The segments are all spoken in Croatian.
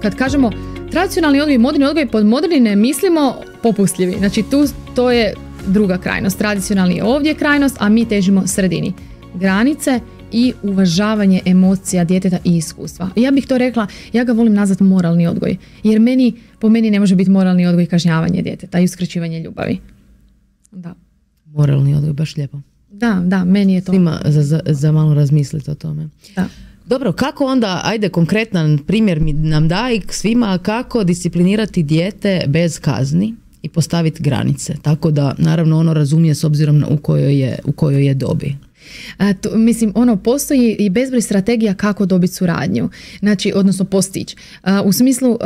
kad kažemo tradicionalni odgoj i moderni odgoj, pod moderni ne mislimo popustljivi. Znači to je druga krajnost. Tradicionalni je ovdje krajnost, a mi težimo sredini. Granice i uvažavanje emocija djeteta i iskustva. Ja bih to rekla, ja ga volim nazvati moralni odgoj, jer po meni ne može biti moralni odgoj kažnjavanje djeteta i uskraćivanje ljubavi. Da. Moralni odgoj, baš lijepo. Da, meni je to. Svima za malo razmisliti o tome. Da. Dobro, kako onda, ajde konkretan primjer mi nam daj svima kako disciplinirati dijete bez kazni i postaviti granice, tako da naravno ono razumije s obzirom u kojoj je dobi. Postoji i bezbroj strategija kako dobiti suradnju, znači, odnosno postići. U smislu,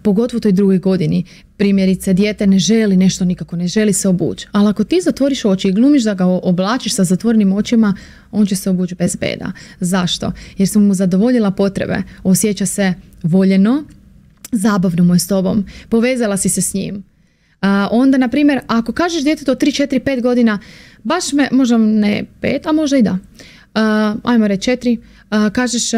pogotovo u toj drugoj godini, primjerice, dijete ne želi nešto nikako, ne želi se obući, ali ako ti zatvoriš oči i glumiš da ga oblačiš sa zatvorenim očima, on će se obući bez beda. Zašto? Jer su mu zadovoljila potrebe, osjeća se voljeno, zabavno mu je s tobom, povezala si se s njim. Onda, na primjer, ako kažeš djetetu od 3, 4, 5 godina, baš me, možda ne 5, a možda i da, ajmo reći 4, kažeš,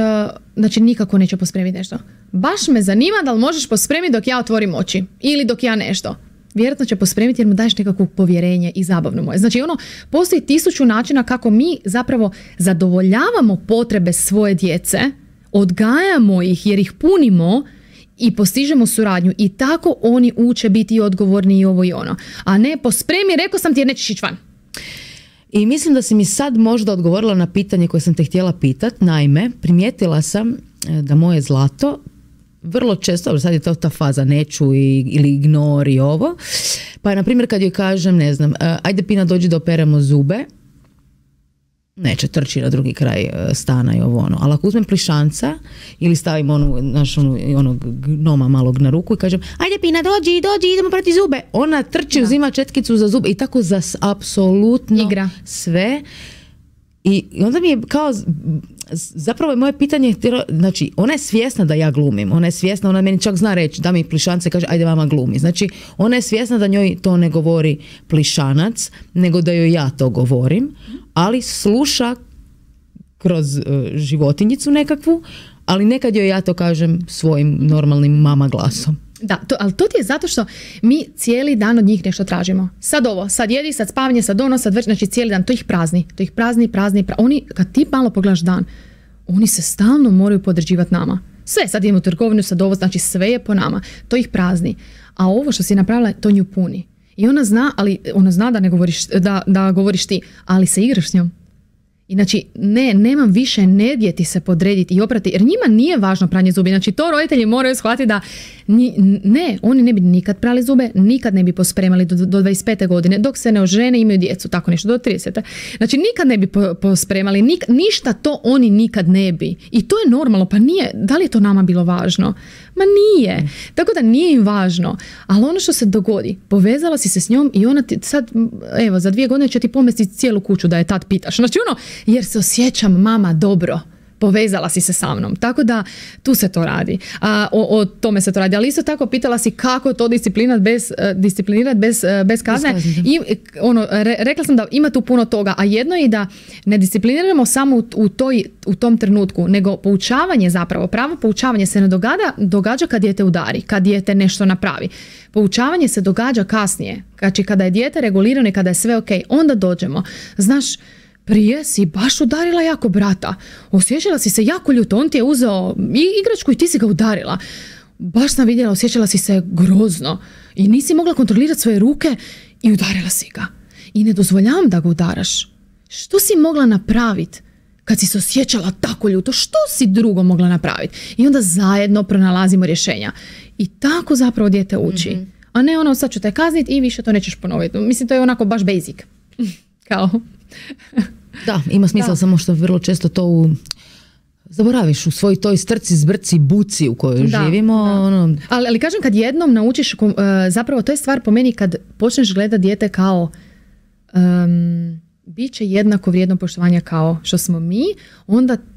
znači nikako neće pospremiti nešto. Baš me zanima da li možeš pospremiti dok ja otvorim oči ili dok ja nešto. Vjerojatno će pospremiti jer mu daješ nekakvo povjerenje i zabavno mu je. Znači postoji 1000 načina kako mi zapravo zadovoljavamo potrebe svoje djece, odgajamo ih jer ih punimo i postižemo suradnju i tako oni uče biti odgovorni i ovo i ono. A ne pospremi, rekao sam ti jer nećeš ići van. I mislim da si mi sad možda odgovorila na pitanje koje sam te htjela pitati. Naime, primijetila sam da moje zlato vrlo često, sad je to ta faza neću ili ignori ovo, pa na primjer kad joj kažem, ne znam, ajde Pina dođi da operemo zube, neće, trči na drugi kraj stana i ovo ono. Ali ako uzmem plišanca ili stavim onog gnoma malog na ruku i kažem ajde Pina dođi, idemo prati zube, ona trči, uzima četkicu za zube i tako za apsolutno igra sve. I onda mi je kao, zapravo je moje pitanje, znači ona je svjesna da ja glumim, ona je svjesna, ona meni čak zna reći da mi plišance kaže ajde mama glumi, znači ona je svjesna da njoj to ne govori plišanac, nego da joj ja to govorim, ali sluša kroz životinjicu nekakvu, ali nekad joj ja to kažem svojim normalnim mama glasom. Da, ali to ti je zato što mi cijeli dan od njih nešto tražimo. Sad ovo, sad jedi, sad spavanje, sad ono, sad već, znači cijeli dan, to ih prazni. Oni, kad ti malo pogledaš dan, oni se stalno moraju podređivati nama. Sve, sad idemo u trgovinu, sad ovo, znači sve je po nama. To ih prazni. A ovo što si napravila, to nju puni. I ona zna da ne govoriš, da govoriš ti, ali se igraš s njom. I znači, nemam više energije ti se podrediti i oprati, jer njima nije važno pranje zubi. Znači, to roditelji moraju shvatiti da oni ne bi nikad prali zube, nikad ne bi pospremali do 25. godine, dok se ne ožene, imaju djecu, tako nešto, do 30. Znači, nikad ne bi pospremali, ništa to oni nikad ne bi. I to je normalno, pa nije, da li je to nama bilo važno? Ma nije. Tako da nije im važno. Ali ono što se dogodi, povezala si se s njom i ona ti sad, evo, za 2 godine će ti pomestiti cijelu kuću da je tad pitaš. Znači, jer se osjećam mama dobro, povezala si se sa mnom. Tako da tu se to radi. O tome se to radi. Ali isto tako pitala si kako to disciplinirati bez kazne. I rekla sam da ima tu puno toga, a jedno je da ne discipliniramo samo u tom trenutku, nego poučavanje zapravo, pravo poučavanje se ne događa kad dijete udari, kad dijete nešto napravi. Poučavanje se događa kasnije. Znači kada je dijete regulirano i kada je sve ok, onda dođemo. Znaš, prije si baš udarila jako brata. Osjećala si se jako ljuto. On ti je uzeo igračku i ti si ga udarila. Baš sam vidjela, osjećala si se grozno. I nisi mogla kontrolirati svoje ruke i udarila si ga. I ne dozvoljavam da ga udaraš. Što si mogla napraviti kad si se osjećala tako ljuto? Što si drugo mogla napraviti? I onda zajedno pronalazimo rješenja. I tako zapravo dijete uči. Mm-hmm. A ne sad ću te kazniti i više to nećeš ponoviti. Mislim, to je onako baš basic. Kao... Da, ima smisla, samo što vrlo često to zaboraviš u svoj toj strci, zbrci, buci u kojoj živimo. Ono... Ali kažem, kad jednom naučiš, zapravo to je stvar po meni kad počneš gledati dijete kao bit će jednako vrijedno poštovanja kao što smo mi,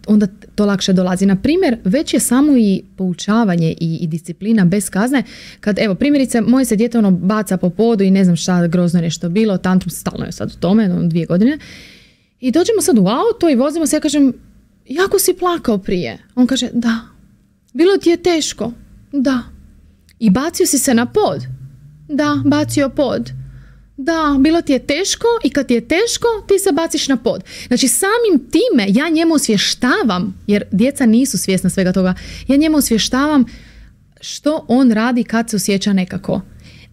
onda to lakše dolazi. Na primjer, već je samo i poučavanje i disciplina bez kazne. Kad, evo, primjerice, moje se dijete baca po podu i ne znam šta, grozno je nešto bilo, tantrum stalno je sad u tome, 2 godine. I dođemo sad u auto i vozimo se, ja kažem, jako si plakao prije. On kaže, da, bilo ti je teško. Da. I bacio si se na pod? Da, bacio pod. Da, bilo ti je teško i kad ti je teško, ti se baciš na pod. Znači samim time ja njemu osvještavam, jer djeca nisu svjesna svega toga, ja njemu osvještavam što on radi kad se osjeća nekako.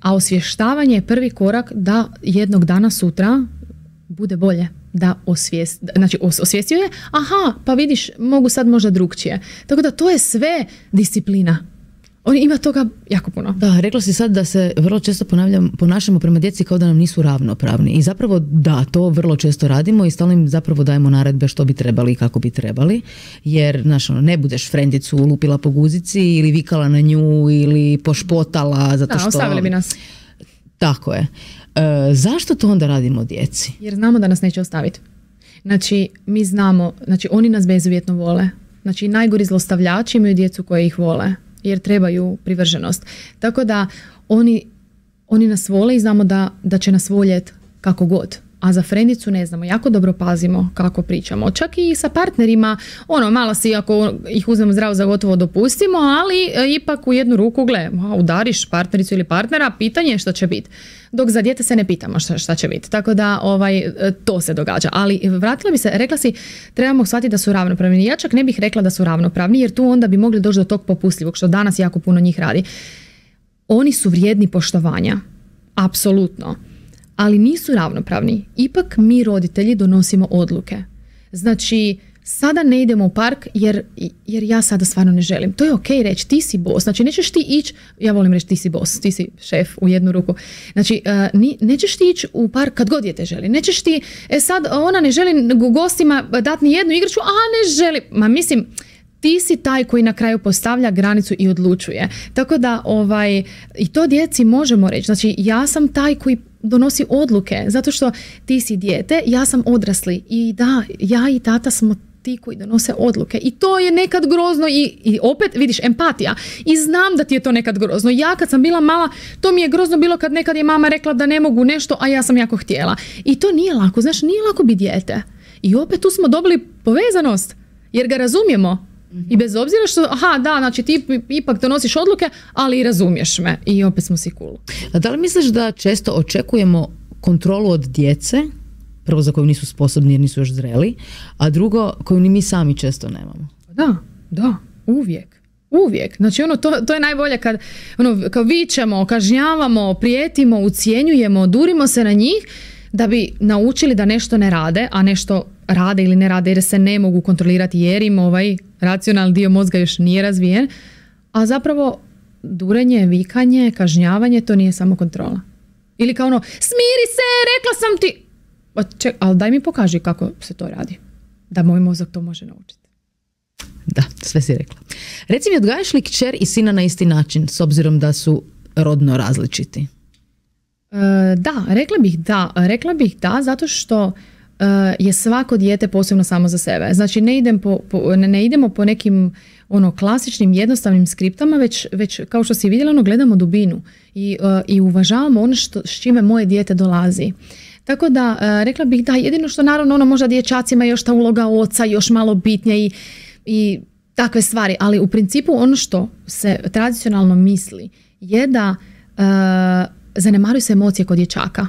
A osvještavanje je prvi korak da jednog dana sutra bude bolje. Da osvijestio je, aha, pa vidiš, mogu sad možda drugčije. Tako da to je sve disciplina. On ima toga jako puno. Da, rekla si sad da se vrlo često ponašamo prema djeci kao da nam nisu ravnopravni. I zapravo da, to vrlo često radimo i stalno im zapravo dajemo naredbe što bi trebali i kako bi trebali. Jer, znaš, ne budeš frendicu lupila po guzici ili vikala na nju ili pošpotala zato što... ostavili bi nas. Tako je. Zašto to onda radimo djeci? Jer znamo da nas neće ostaviti. Znači, mi znamo, znači oni nas bezuvjetno vole. Znači, najgori zlostavljači imaju djecu koje ih vole. Jer trebaju privrženost. Tako da oni nas vole i znamo da će nas voljeti kako god. A za frendicu ne znamo, jako dobro pazimo kako pričamo. Čak i sa partnerima, malo si ako ih uzmemo zdravo za gotovo dopustimo, ali ipak u jednu ruku udariš partnericu ili partnera, pitanje je šta će biti. Dok za dijete se ne pitamo šta će biti. Tako da to se događa. Ali vratila bi se, rekla si, trebamo shvatiti da su ravnopravni. Ja čak ne bih rekla da su ravnopravni, jer tu onda bi mogli doći do tog popustljivog, što danas jako puno njih radi. Oni su vrijedni poštovanja. Apsolutno. Ali nisu ravnopravni. Ipak mi roditelji donosimo odluke. Znači, sada ne idemo u park jer ja sada stvarno ne želim. To je ok reći, ti si boss. Znači, nećeš ti ići, ja volim reći ti si boss, ti si šef u jednu ruku. Znači, nećeš ti ići u park kad god dijete želi. Nećeš ti, sad ona ne želi gostima dati ni jednu igračku, a ne želi. Ma mislim, ti si taj koji na kraju postavlja granicu i odlučuje. Tako da, i to djeci možemo reći. Znači, ja sam taj koji donosi odluke, zato što ti si dijete, ja sam odrasli i da, ja i tata smo ti koji donose odluke i to je nekad grozno i opet vidiš empatija i znam da ti je to nekad grozno. Ja kad sam bila mala, to mi je grozno bilo kad nekad je mama rekla da ne mogu nešto, a ja sam jako htjela. I to nije lako, znaš, nije lako biti dijete. I opet tu smo dobili povezanost jer ga razumijemo. I bez obzira što, znači ti ipak donosiš odluke, ali i razumiješ me. I opet smo si cool. A da li misliš da često očekujemo kontrolu od djece, prvo za koju nisu sposobni jer nisu još zreli, a drugo koju ni mi sami često nemamo? Da, uvijek. Znači to je najbolje kad vičemo, kažnjavamo, prijetimo, ucjenjujemo, durimo se na njih da bi naučili da nešto ne rade, a nešto rade ili ne rade jer se ne mogu kontrolirati jer im racionalni dio mozga još nije razvijen, a zapravo durenje, vikanje, kažnjavanje, to nije samo kontrola. Ili kao smiri se, rekla sam ti. Ali daj mi pokaži kako se to radi. Da moj mozak to može naučiti. Da, sve si rekla. Reci mi, odgajaš li kćer i sina na isti način, s obzirom da su rodno različiti? Da, rekla bih da, zato što je svako dijete posebno samo za sebe. Znači ne idemo po nekim klasičnim jednostavnim skriptama, već kao što si vidjela, gledamo dubinu i uvažavamo ono s čime moje dijete dolazi. Tako da rekla bih da, jedino što naravno možda dječacima je još ta uloga oca još malo bitnija i takve stvari, ali u principu ono što se tradicionalno misli je da zanemaruju se emocije kod dječaka.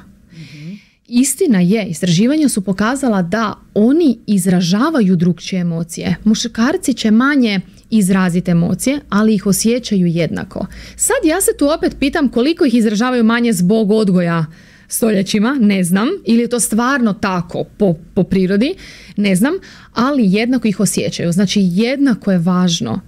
Istina je, istraživanja su pokazala da oni izražavaju drukčije emocije. Muškarci će manje izraziti emocije, ali ih osjećaju jednako. Sad ja se tu opet pitam koliko ih izražavaju manje zbog odgoja stoljećima, ne znam, ili je to stvarno tako po prirodi, ne znam, ali jednako ih osjećaju. Znači jednako je važno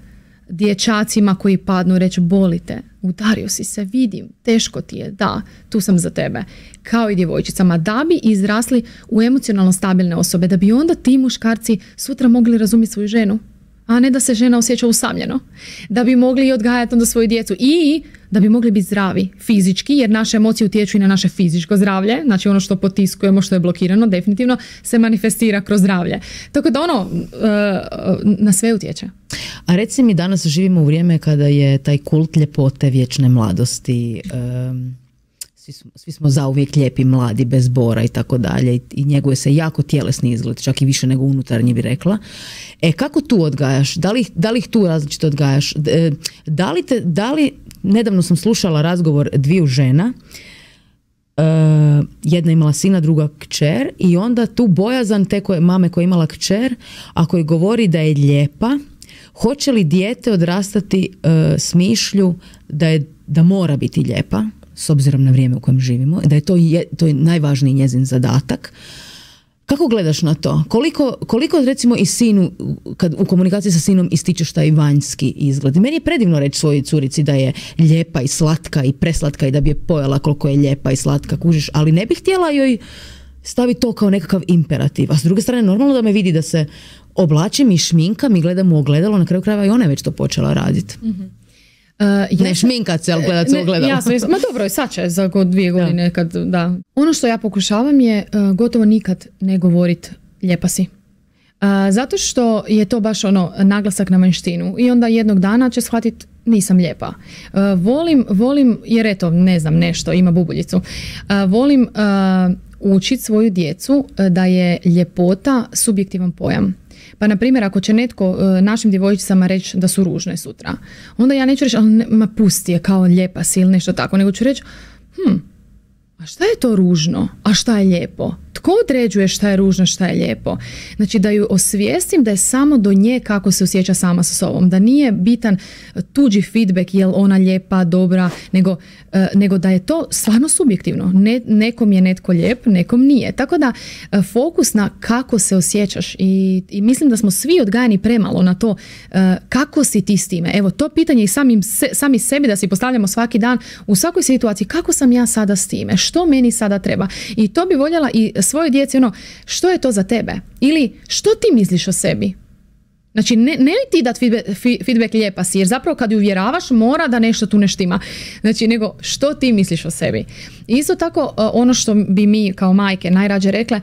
dječacima koji padnu reći boli te, udario si se, vidim, teško ti je, da, tu sam za tebe, kao i djevojčicama, da bi izrasli u emocionalno stabilne osobe, da bi onda ti muškarci sutra mogli razumjeti svoju ženu, a ne da se žena osjeća usamljeno, da bi mogli odgajati onda svoju djecu i da bi mogli biti zdravi fizički, jer naše emocije utječu i na naše fizičko zdravlje, znači ono što potiskujemo, što je blokirano, definitivno se manifestira kroz zdravlje. Tako da na sve utječe. A reci mi, danas živimo u vrijeme kada je taj kult ljepote, vječne mladosti svi smo zauvijek lijepi, mladi, bez bora i tako dalje i njeguje se jako tjelesni izgled, čak i više nego unutarnji bi rekla. Kako tu odgajaš? Da li ih tu različito odgajaš? Da li, nedavno sam slušala razgovor dviju žena, jedna imala sina, druga kćer i onda tu bojazan te mame koja je imala kćer, ako joj govori da je lijepa, hoće li dijete odrastati s mišlju da mora biti lijepa, s obzirom na vrijeme u kojem živimo, da je to je najvažniji njezin zadatak. Kako gledaš na to? Koliko recimo i sinu, kad u komunikaciji sa sinom ističeš taj vanjski izgled? Meni je predivno reći svojoj curici da je lijepa i slatka i preslatka i da bi je pojela koliko je lijepa i slatka, kužiš, ali ne bih htjela joj staviti to kao nekakav imperativ. A s druge strane, normalno da me vidi da se oblačim i šminkam i gledam u ogledalo, na kraju krajeva i ona je već to počela raditi. Mm-hmm. Ne šminkat se, ali gledat se u ogledalo. Jasno, ma dobro, sad će za 2 godine. Kad, da. Ono što ja pokušavam je gotovo nikad ne govorit lijepa si. Zato što je to baš naglasak na vanjštinu i onda jednog dana će shvatiti nisam lijepa. Volim, jer eto, ne znam, nešto, ima bubuljicu. Volim učiti svoju djecu da je ljepota subjektivan pojam. Pa, na primjer, ako će netko našim djevojčicama reći da su ružne sutra, onda ja neću reći, ma pusti je kao lijepa si ili nešto tako, nego ću reći, a šta je to ružno, a šta je lijepo? Tko određuje šta je ružno, šta je lijepo? Znači, da ju osvijestim da je samo do nje kako se osjeća sama sa sobom. Da nije bitan tuđi feedback, je li ona lijepa, dobra, nego da je to stvarno subjektivno. Nekom je netko lijep, nekom nije. Tako da, fokus na kako se osjećaš i mislim da smo svi odgajani premalo na to kako si ti s time. Evo, to pitanje i sami sebi da si postavljamo svaki dan u svakoj situaciji, kako sam ja sada s time? Što meni sada treba? I to bi voljela i svojoj djeci, što je to za tebe? Ili što ti misliš o sebi? Znači, ne ti dati feedback lijepa si, jer zapravo kad ju uvjeravaš mora da nešto tu ne štima. Znači, nego što ti misliš o sebi? I isto tako, ono što bi mi kao majke najrađe rekle,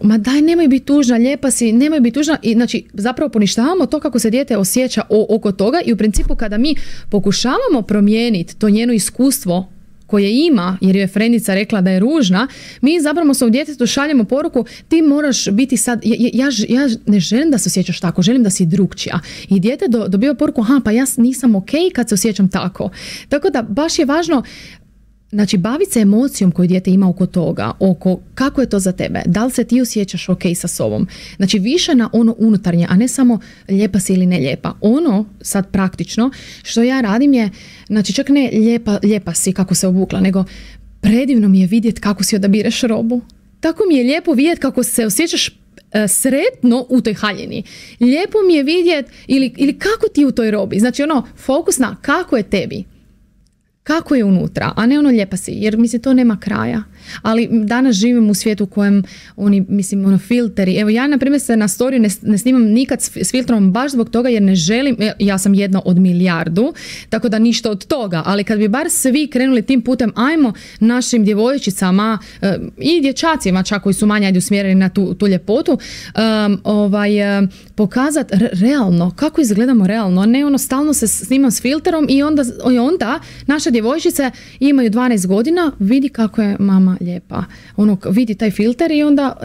ma daj, nemoj biti tužna, lijepa si, nemoj biti tužna. I znači, zapravo poništavamo to kako se dijete osjeća oko toga i u principu kada mi pokušavamo promijeniti to njeno iskustvo koje ima, jer je frendica rekla da je ružna, mi zapravo svom djetetu šaljemo poruku, ti moraš biti sad, ja ne želim da se osjećaš tako, želim da si drukčija. I dijete dobiva poruku, pa ja nisam ok kad se osjećam tako. Tako da baš je važno, znači, baviti se emocijom koju dijete ima oko toga, oko kako je to za tebe, da li se ti osjećaš ok sa sobom. Znači, više na ono unutarnje, a ne samo lijepa si ili ne lijepa. Ono, sad praktično, što ja radim je, znači, čak ne lijepa si kako se obukla, nego predivno mi je vidjeti kako si odabireš robu. Tako mi je lijepo vidjeti kako se osjećaš sretno u toj haljini. Lijepo mi je vidjeti ili kako ti u toj robi. Znači, fokus na kako je tebi. Kako je unutra, a ne lijepa si, jer mislim to nema kraja. Ali danas živim u svijetu u kojem filteri. Evo, ja na primjer se na storiju ne snimam nikad s filtrom baš zbog toga jer ne želim, ja sam jedna od milijardu, tako da ništa od toga, ali kad bi bar svi krenuli tim putem, ajmo našim djevojčicama i dječacima čak koji su manje usmjereni na tu ljepotu, pokazati realno, kako izgledamo realno, a ne stalno se snimam s filterom i onda naše djevojčice imaju 12 godina, vidi kako je mama lijepa. Vidi taj filter i onda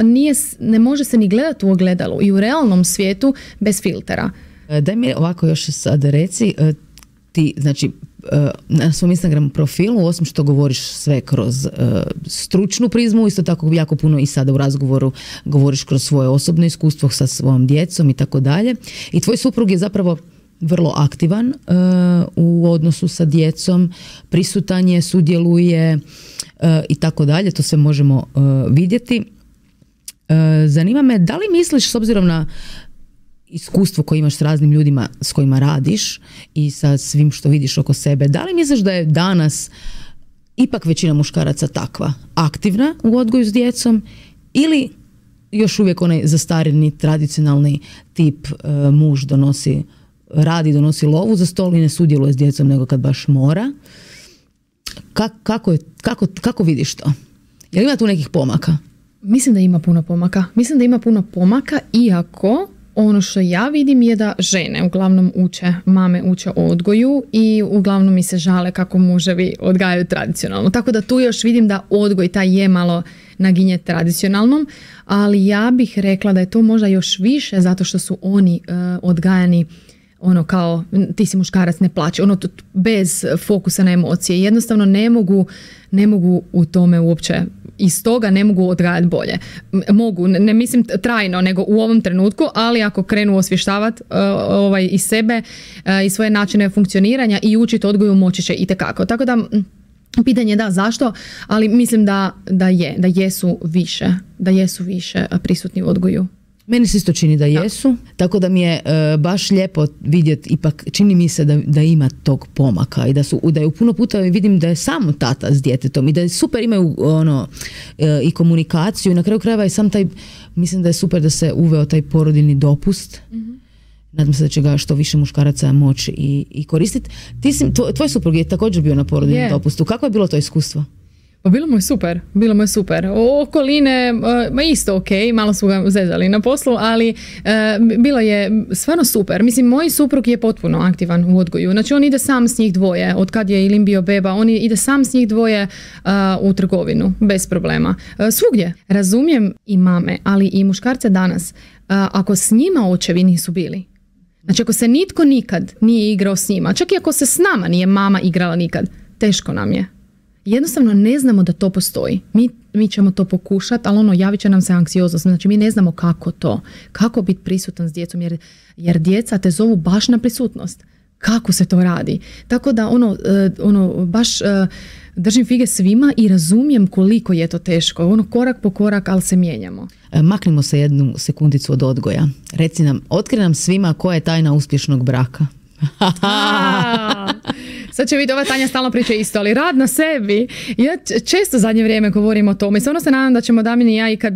ne može se ni gledati u ogledalu i u realnom svijetu bez filtera. Daj mi ovako još sad reci, ti znači na svom Instagram profilu, osim što govoriš sve kroz stručnu prizmu, isto tako jako puno i sada u razgovoru govoriš kroz svoje osobno iskustvo sa svojom djecom i tako dalje. I tvoj suprug je zapravo vrlo aktivan u odnosu sa djecom, prisutan je, sudjeluje i tako dalje, to sve možemo vidjeti. Zanima me, da li misliš, s obzirom na iskustvo koje imaš s raznim ljudima s kojima radiš i sa svim što vidiš oko sebe, da li misliš da je danas ipak većina muškaraca takva, aktivna u odgoju s djecom ili još uvijek onaj zastarjeni tradicionalni tip muž donosi lovu za stol i ne sudjeluje s djecom nego kad baš mora? Kako vidiš to? Jel ima tu nekih pomaka? Mislim da ima puno pomaka. Iako Ono što ja vidim je da žene uglavnom mame uče odgoju i uglavnom mi se žale kako muževi odgajaju tradicionalno. Tako da tu još vidim da odgoj taj je malo naginje tradicionalnom, ali ja bih rekla da je to možda još više zato što su oni odgajani ono kao ti si muškarac, ne plaći, ono bez fokusa na emocije. Jednostavno ne mogu u tome uopće, iz toga ne mogu odgajati bolje. Mogu, ne mislim trajno, nego u ovom trenutku, ali ako krenu osvještavati i sebe i svoje načine funkcioniranja i učiti odgoju, moći će itekako. Tako da pitanje je da zašto, ali mislim da jesu više prisutni u odgoju. Meni se isto čini da jesu, tako da mi je baš lijepo vidjeti, ipak čini mi se da ima tog pomaka i da je puno puta vidim da je samo tata s djetetom i da je super imaju i komunikaciju i na kraju krajeva i sam taj, mislim da je super da se uveo taj porodiljni dopust. Nadam se da će ga što više muškaraca moći i koristiti. Tvoj suprug je također bio na porodiljnom dopustu. Kako je bilo to iskustvo? Pa bilo mu je super. Okoline, isto ok, malo su ga zezali na poslu, ali bilo je stvarno super. Mislim, moj suprug je potpuno aktivan u odgoju. Znači, on ide sam s njih dvoje. Od kad je Ilim bio beba, on ide sam s njih dvoje u trgovinu, bez problema. Svugdje. Razumijem i mame, ali i muškarce danas. Ako s njima očevi nisu bili, znači ako se nitko nikad nije igrao s njima, čak i ako se s nama nije mama igrala nikad, teško nam je. Jednostavno ne znamo da to postoji. Mi ćemo to pokušati, ali javit će nam se anksioznost. Znači mi ne znamo kako biti prisutan s djecom, jer djeca te zovu baš na prisutnost. Kako se to radi? Tako da baš držim fige svima i razumijem koliko je to teško. Korak po korak, ali se mijenjamo. Maknimo se jednu sekundicu od odgoja. Reci nam, otkri nam svima koja je tajna uspješnog braka. Sad će vidjeti, ova Tanja stalno priča isto, ali rad na sebi. Ja često zadnje vrijeme govorim o tome i stvarno se nadam da ćemo Damir i ja i kad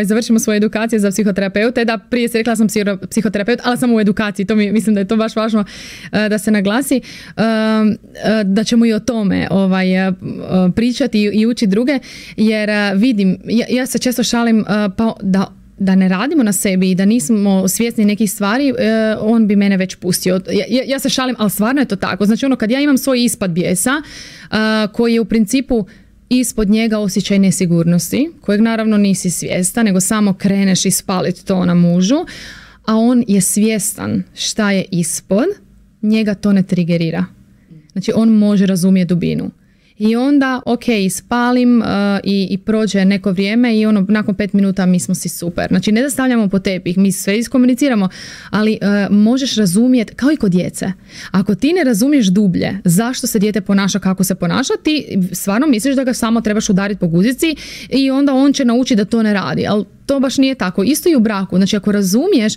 završimo svoje edukacije za psihoterapeute, da prije se rekla sam psihoterapeut, ali sam u edukaciji, mislim da je to baš važno da se naglasi, da ćemo i o tome pričati i učiti druge, jer vidim, ja se često šalim pa da ne radimo na sebi i da nismo svjesni nekih stvari, on bi mene već pustio. Ja se šalim, ali stvarno je to tako. Znači kad ja imam svoj ispad bijesa, koji je u principu ispod njega osjećaj nesigurnosti, kojeg naravno nisi svjestan, nego samo kreneš ispaliti to na mužu, a on je svjestan šta je ispod, njega to ne trigerira. Znači on može razumjeti dubinu. I onda, spalim i prođe neko vrijeme i nakon 5 minuta mi smo si super. Znači, ne da stavljamo po tepih, mi sve iskomuniciramo, ali možeš razumjeti, kao i kod djece. Ako ti ne razumiješ dublje zašto se dijete ponaša kako se ponaša, ti stvarno misliš da ga samo trebaš udariti po guzici i onda on će naučiti da to ne radi. Ali to baš nije tako. Isto i u braku. Znači, ako razumiješ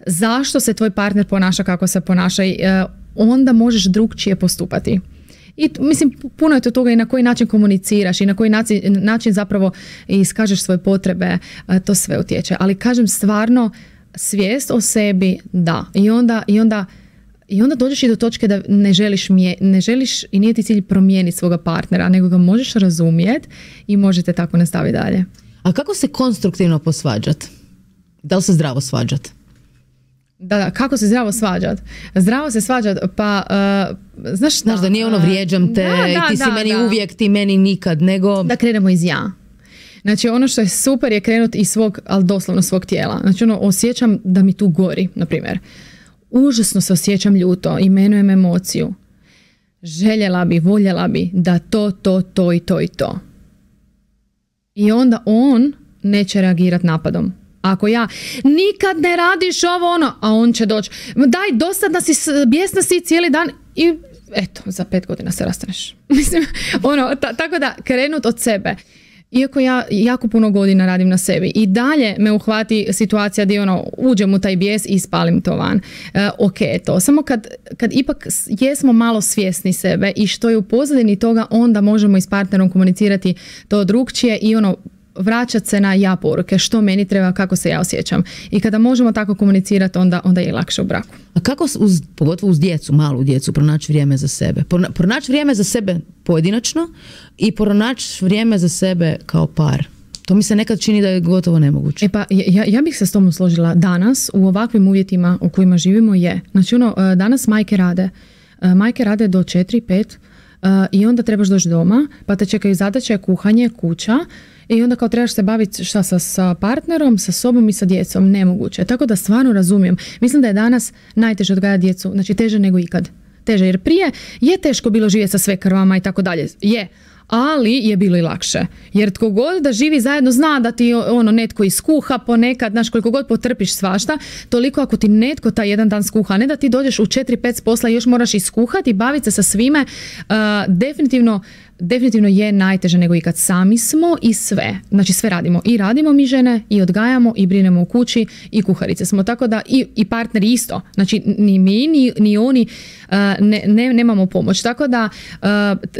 zašto se tvoj partner ponaša kako se ponaša, onda možeš drugčije postupati. I mislim, puno je to toga i na koji način komuniciraš i na koji način zapravo iskažeš svoje potrebe, to sve utječe. Ali kažem stvarno, svijest o sebi, da. I onda dođeš i do točke da ne želiš i nije ti cilj promijeniti svoga partnera, nego ga možeš razumjeti i možete tako nastaviti dalje. A kako se konstruktivno posvađati? Da li se zdravo svađati? Da, kako se zdravo svađat? Zdravo se svađat, pa znaš da nije vrijeđam te, ti si meni uvijek, ti meni nikad, nego... Da krenemo iz ja. Znači ono što je super je krenuti iz svog, ali doslovno svog tijela. Znači osjećam da mi tu gori, na primjer. Užasno se osjećam ljuto, imenujem emociju. Voljela bi da to i to. I onda on neće reagirati napadom. Ako ja, nikad ne radiš ovo, a on će doći, daj, dosadna si, bijesna si cijeli dan i eto, za 5 godina se rastaneš. Mislim, tako da krenut od sebe. Iako ja jako puno godina radim na sebi i dalje me uhvati situacija gdje uđem u taj bijes i ispalim to van. To. Samo kad ipak jesmo malo svjesni sebe i što je u pozadini toga, onda možemo i s partnerom komunicirati to drugčije i vraćati se na ja poruke, što meni treba, kako se ja osjećam. I kada možemo tako komunicirati, onda je lakše u braku. A kako, pogotovo uz djecu, malu djecu, pronaći vrijeme za sebe? Pronaći vrijeme za sebe pojedinačno i pronaći vrijeme za sebe kao par. To mi se nekad čini da je gotovo nemoguće. Pa ja bih se s tom složila. Danas u ovakvim uvjetima u kojima živimo je. Znači danas majke rade. Majke rade do 4-5 i onda trebaš doći doma, pa te čekaju zadaće, kuhanje, kuća i onda kao trebaš se baviti sa partnerom, sa sobom i sa djecom. Nemoguće. Tako da stvarno razumijem. Mislim da je danas najteže odgajati djecu. Znači teže nego ikad. Teže, jer prije je teško bilo živjeti sa svekrvama i tako dalje. Je. Ali je bilo i lakše. Jer tko god da živi zajedno zna da ti netko iskuha ponekad, znaš, koliko god potrpiš svašta, toliko ako ti netko taj jedan dan skuha, ne da ti dođeš u 4-5 s posla i još moraš iskuhati i baviti se sa svime, definitivno je najteže nego ikad. Sami smo i sve. Znači sve radimo. I radimo mi žene, i odgajamo, i brinemo u kući, i kuharice smo. Tako da i partneri isto. Znači ni mi, ni oni nemamo pomoć. Tako da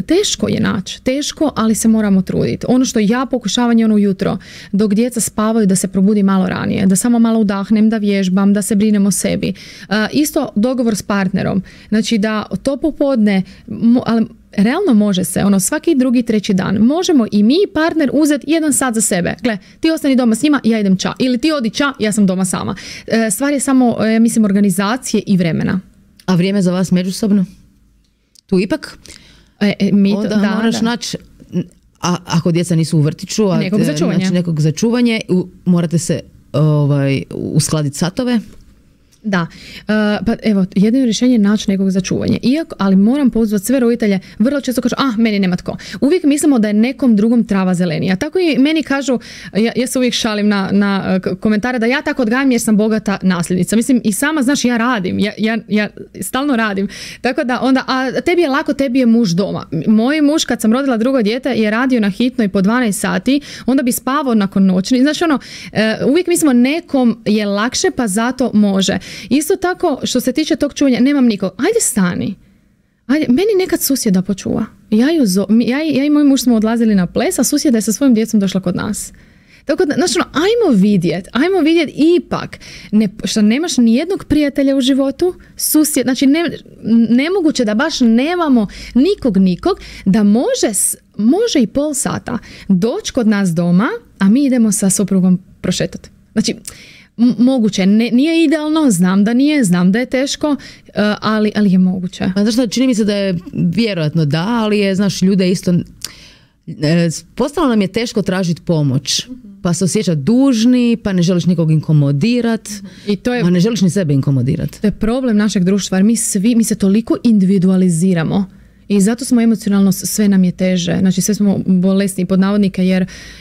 teško je naći. Teško, ali se moramo truditi. Ono što ja pokušavam je ujutro, dok djeca spavaju, da se probudi malo ranije. Da samo malo udahnem, da vježbam, da se brinem o sebi. Isto dogovor s partnerom. Znači da to popodne, ali realno može se, svaki drugi, treći dan. Možemo i mi partner uzeti 1 sat za sebe. Gle, ti ostani doma s njima, ja idem ča. Ili ti odi ča, ja sam doma sama. Stvar je samo, mislim, organizacije i vremena. A vrijeme za vas međusobno? Tu ipak onda moraš naći, ako djeca nisu u vrtiću, nekog za čuvanje, morate se uskladiti satove. Da, pa evo, jedno rješenje je naći nekog za čuvanje. Ali moram pozvati sve roditelje, vrlo često kažu, meni nema tko. Uvijek mislimo da je nekom drugom trava zelenija. Tako i meni kažu, ja se uvijek šalim na komentare da ja tako odgajam jer sam bogata nasljednica. Mislim, i sama, znaš, ja radim, ja stalno radim. Tako da onda, a tebi je lako, tebi je muž doma. Moj muž, kad sam rodila drugo dijete, je radio na hitnoj po 12 sati, onda bi spavao nakon noćni. Znači, uvijek mislimo nekom je lakše, pa zato može. Isto tako, što se tiče tog čuvanja, nemam nikog. Ajde stani. Ajde, meni nekad susjeda počuva. Ja i moj muž smo odlazili na ples, a susjeda je sa svojim djecom došla kod nas. Tako da, znači, ajmo vidjet ipak. Što nemaš ni jednog prijatelja u životu, susjed, znači nemoguće da baš nemamo nikog, da može i pol sata doći kod nas doma, a mi idemo sa suprugom prošetati. Znači, moguće, nije idealno, znam da nije, znam da je teško, ali je moguće. Znaš što, čini mi se da je vjerojatno da, ali je, znaš, ljude isto, postalo nam je teško tražiti pomoć, pa se osjećati dužni, pa ne želiš nikog inkomodirati, a ne želiš ni sebe inkomodirati. To je problem našeg društva, jer mi se toliko individualiziramo. I zato smo emocionalno, sve nam je teže. Znači sve smo bolesni pod navodnike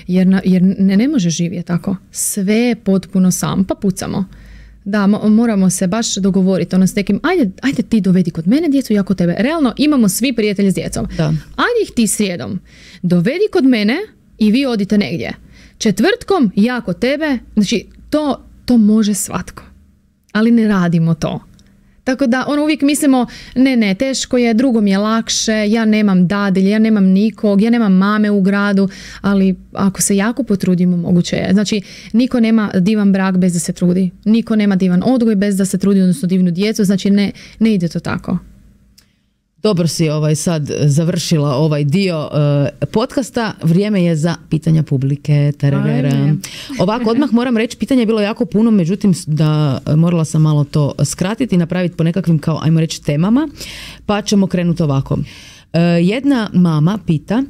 jer ne može živjeti tako. Sve je potpuno sam, pa pucamo. Da, moramo se baš dogovoriti s nekim, ajde ti dovedi kod mene djecu, ja kod tebe. Realno imamo svi prijatelji s djecom. Da. Ajde ih ti srijedom. Dovedi kod mene i vi odite negdje. Četvrtkom ja kod tebe. Znači to može svatko. Ali ne radimo to. Tako da uvijek mislimo, ne, teško je, drugom je lakše, ja nemam dadilje, ja nemam nikog, ja nemam mame u gradu, ali ako se jako potrudimo, moguće je. Znači, niko nema divan brak bez da se trudi. Niko nema divan odgoj bez da se trudi, odnosno divnu djecu, znači ne ide to tako. Dobro si sad završila ovaj dio podcasta. Vrijeme je za pitanja publike. Ovako, odmah moram reći, pitanje je bilo jako puno, međutim morala sam malo to skratiti i napraviti po nekakvim, kao ajmo reći, temama, pa ćemo krenuti ovako. Jedna mama pita,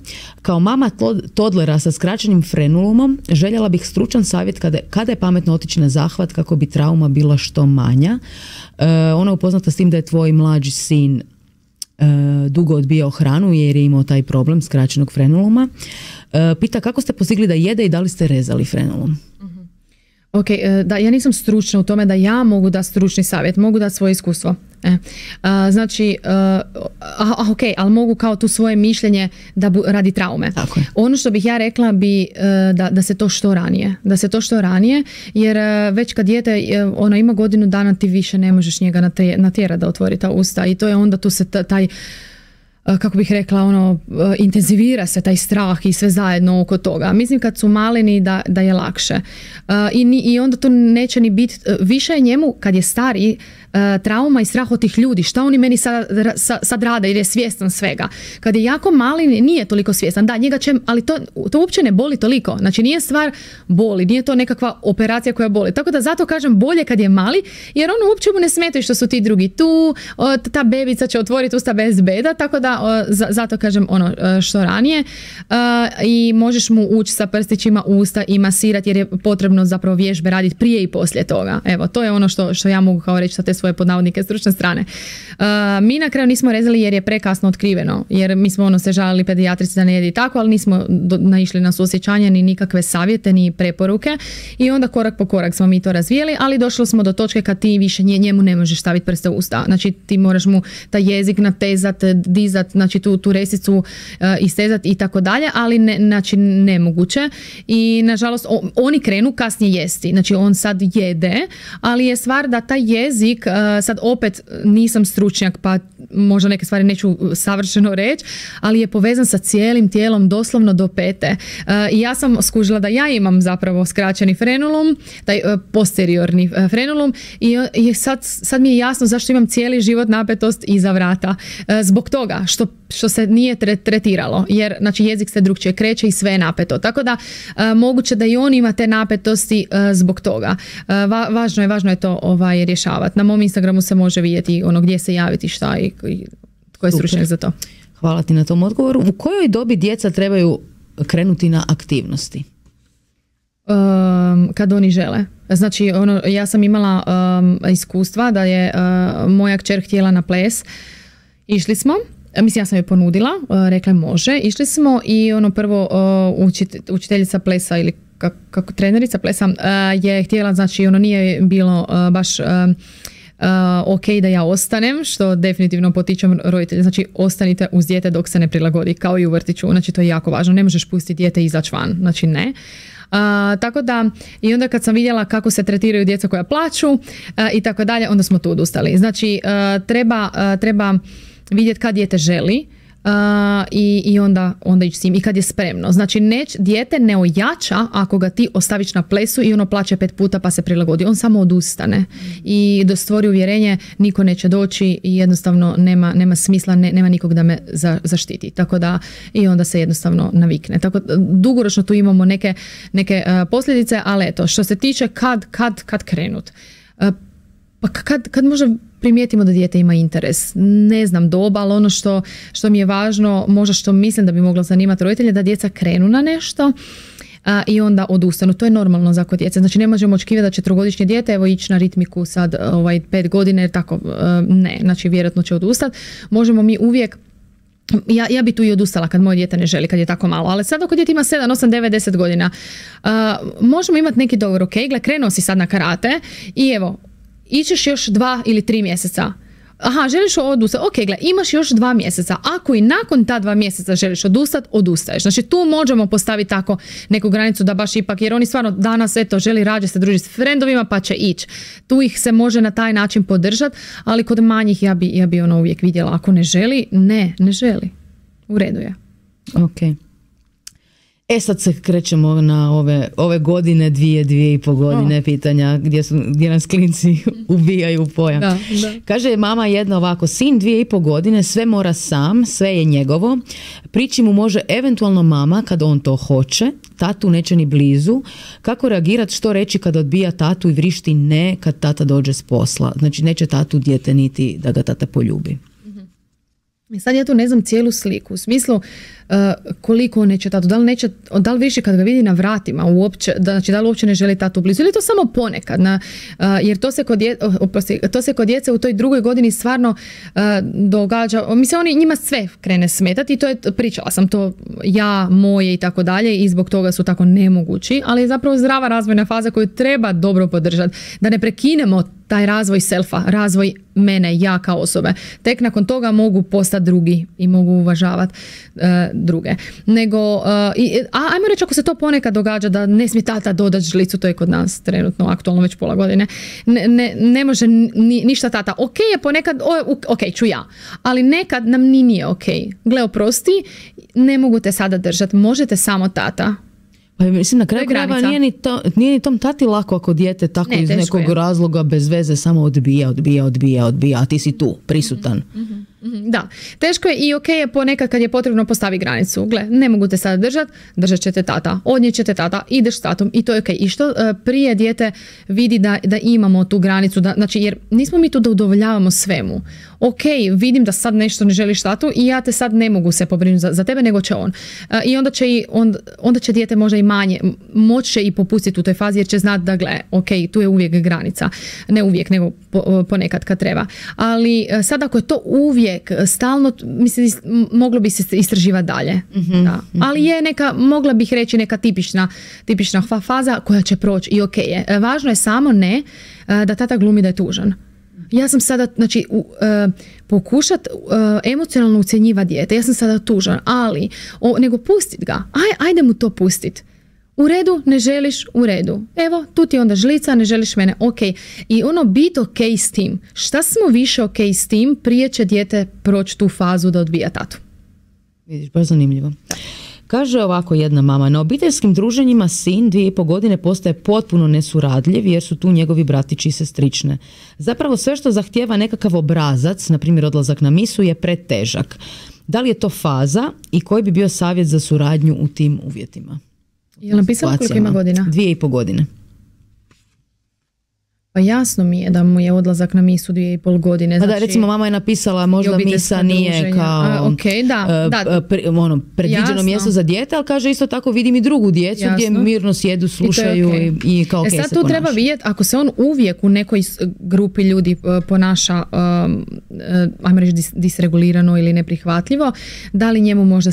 kao mama todlera sa skraćenim frenulumom, željela bih stručan savjet kada je pametno otići na zahvat kako bi trauma bila što manja. Ona je upoznata s tim da je tvoj mlađi sin dugo odbijao hranu jer je imao taj problem skraćenog frenuluma. Pita kako ste postigli da jede i da li ste rezali frenulum? Ok, da, ja nisam stručna u tome da ja mogu dati stručni savjet, mogu dati svoje iskustvo. Znači, ok, ali mogu kao tu svoje mišljenje radi traume. Ono što bih ja rekla bi da se to što ranije, jer već kad dijete ono ima godinu dana ti više ne možeš njega natjerati da otvori ta usta i to je onda tu se taj, kako bih rekla, intenzivira se taj strah i sve zajedno oko toga. Mislim kad su maleni da je lakše. I onda to neće ni biti, više je njemu kad je stariji trauma i strah od tih ljudi, šta oni meni sad rade jer je svjestan svega. Kad je jako mali nije toliko svjestan, da njega će, ali to uopće ne boli toliko, znači nije stvar boli, nije to nekakva operacija koja boli, tako da zato kažem bolje kad je mali, jer ono uopće mu ne smetaju što su ti drugi tu, ta bebica će otvoriti usta bez beda, tako da zato kažem ono što ranije i možeš mu ući sa prstićima u usta i masirati jer je potrebno zapravo vježbe raditi prije i poslije toga. Evo, to je ono što ja mogu kao reći sa te svoje podnavodnike stručne strane. Mi na kraju nismo rezali jer je prekasno otkriveno, jer mi smo se žalili pedijatrici da ne jedi tako, ali nismo naišli na suosjećanje ni nikakve savjete ni preporuke i onda korak po korak smo mi to razvijeli, ali došli smo do točke kad ti više njemu ne možeš staviti prste u usta. Znači ti moraš mu taj jezik natezat, dizat, znači tu resicu istezat i tako dalje, ali znači nemoguće i nažalost oni krenu kasnije jesti, znači on sad jede, ali je stvar da taj jezik, sad opet nisam stručnjak pa možda neke stvari neću savršeno reći, ali je povezan sa cijelim tijelom doslovno do pete. I ja sam skužila da ja imam zapravo skraćeni frenulum, taj posteriorni frenulum i sad mi je jasno zašto imam cijeli život napetost iza vrata. Zbog toga što se nije tretiralo, jer znači jezik se drugčije kreće i sve je napeto. Tako da moguće da i on ima te napetosti zbog toga. Važno je to rješavati. Na mom Instagramu se može vidjeti ono gdje se javiti šta i tko je stručnjak za to. Hvala ti na tom odgovoru. U kojoj dobi djeca trebaju krenuti na aktivnosti? Kad oni žele. Znači, ja sam imala iskustva da je moja kćer htjela na ples. Išli smo, mislim ja sam joj ponudila, rekla može, išli smo i prvo učiteljica plesa ili kako trenerica plesa je htjela, znači nije bilo baš ok da ja ostanem, što definitivno potičem roditelje, znači ostanite uz dijete dok se ne prilagodi, kao i u vrtiću, znači to je jako važno, ne možeš pustiti dijete izaći van, znači ne. Tako da i onda kad sam vidjela kako se tretiraju djeca koja plaču i tako dalje, onda smo tu odustali. Znači treba vidjeti kad dijete želi i onda ići s njim i kad je spremno. Znači dijete ne ojača ako ga ti ostaviš na plesu i ono plaće 5 puta pa se prilagodi. On samo odustane i stvori uvjerenje niko neće doći i jednostavno nema smisla, nema nikog da me zaštiti. Tako da i onda se jednostavno navikne. Tako dugoročno tu imamo neke posljedice, ali eto, što se tiče kad krenut. Pa kad možda primijetimo da dijete ima interes, ne znam doba, ali ono što mi je važno, možda što mislim da bi moglo zanimati roditelje, da djeca krenu na nešto i onda odustanu. To je normalno za kod djece. Znači ne možemo očekivati da će 3-godišnje dijete evo ići na ritmiku sad 5 godina jer tako ne, znači vjerojatno će odustati. Možemo mi uvijek ja bi tu i odustala kad moje dijete ne želi, kad je tako malo, ali sad ako dijete ima 7, 8, 9, 10 godina možemo imati neki dogovor, ok, gle, krenuo si sad na karate i evo ićeš još 2 ili 3 mjeseca. Aha, želiš odustati? Ok, gle, imaš još 2 mjeseca. Ako i nakon ta 2 mjeseca želiš odustati, odustaješ. Znači tu možemo postaviti tako neku granicu da baš ipak, jer oni stvarno danas želi rađe se družiti s frendovima pa će ići. Tu ih se može na taj način podržati, ali kod manjih ja bi uvijek vidjela ako ne želi, ne želi. U redu je. Ok. Sad se krećemo na ove godine, 2,5 godine pitanja gdje nas klinci ubijaju pojam. Da. Kaže mama jedna ovako, sin 2,5 godine, sve mora sam, sve je njegovo. Prići mu može eventualno mama kad on to hoće, tatu neće ni blizu. Kako reagirati, što reći kad odbija tatu i vrišti ne kad tata dođe s posla? Znači neće tatu dijete niti da ga tata poljubi. Sad ja tu ne znam cijelu sliku, u smislu koliko on neće tatu, da li više kad ga vidi na vratima uopće, znači da li uopće ne želi tatu blizu ili to samo ponekad, jer to se kod djece u toj 2. godini stvarno događa, mislim njima sve krene smetati i to je, pričala sam to ja, moje i tako dalje i zbog toga su tako nemogući, ali je zapravo zdrava razvojna faza koju treba dobro podržati, da ne prekinemo taj razvoj selfa, razvoj mene, ja kao osobe. Tek nakon toga mogu postati drugi i mogu uvažavati druge. Nego, ajmo reći ako se to ponekad događa da ne smije tata dodati žlicu, to je kod nas trenutno aktualno već pola godine, ne može ništa tata. Ok je ponekad, ok ću ja, ali nekad nam nije ok. Gle, oprosti, ne mogu te sada držati, možete samo tata. Pa mislim, na kraju krajeva nije ni tom tati lako ako dijete tako iz nekog razloga bez veze samo odbija, a ti si tu, prisutan. Da, teško je i ok je ponekad kad je potrebno postavi granicu. Gle, ne mogu te sada držat će te tata, odnijet će te tata, ideš s tatom i to je ok. I što prije dijete vidi da imamo tu granicu, znači jer nismo mi tu da udovoljavamo svemu. Ok, vidim da sad nešto ne želiš tatu i ja te sad ne mogu se pobrinuti za tebe, nego će on. I onda će dijete možda i manje, moći će i popustiti u toj fazi jer će znati da gle, ok, tu je uvijek granica. Ne uvijek, nego ponekad kad treba. Ali sad ako je to uvijek, stalno, mislim, moglo bi se istraživati dalje. Da. Ali je mogla bih reći neka tipična faza koja će proći i ok je. Važno je samo da tata glumi da je tužan. Ja sam sada, znači, pokušat emocionalno ucjenjivati dijete. Ja sam sada tužan, ali nego pustit ga. Ajde mu to pustit. U redu, ne želiš, u redu. Evo, tu ti je onda žlica, ne želiš mene, ok. I biti ok s tim. Šta smo više ok s tim, prije će dijete proći tu fazu da odbija tatu. Vidiš, baš zanimljivo. Kaže ovako jedna mama, na obiteljskim druženjima sin 2,5 godine postaje potpuno nesuradljiv jer su tu njegovi bratići i sestrične. Zapravo sve što zahtijeva nekakav obrazac, na primjer odlazak na misu, je pretežak. Da li je to faza i koji bi bio savjet za suradnju u tim uvjetima? Je li napisala koliko ima godina? 2,5 godine. Pa jasno mi je da mu je odlazak na misu 2,5 godine. Znači, da, recimo mama je napisala možda misa nije kao predviđeno mjesto za dijete, ali kaže isto tako vidim i drugu djecu gdje mirno sjedu, slušaju i kao ok se ponaša. Sad tu treba vidjeti ako se on uvijek u nekoj grupi ljudi ponaša ajmo reći disregulirano ili neprihvatljivo, da li njemu možda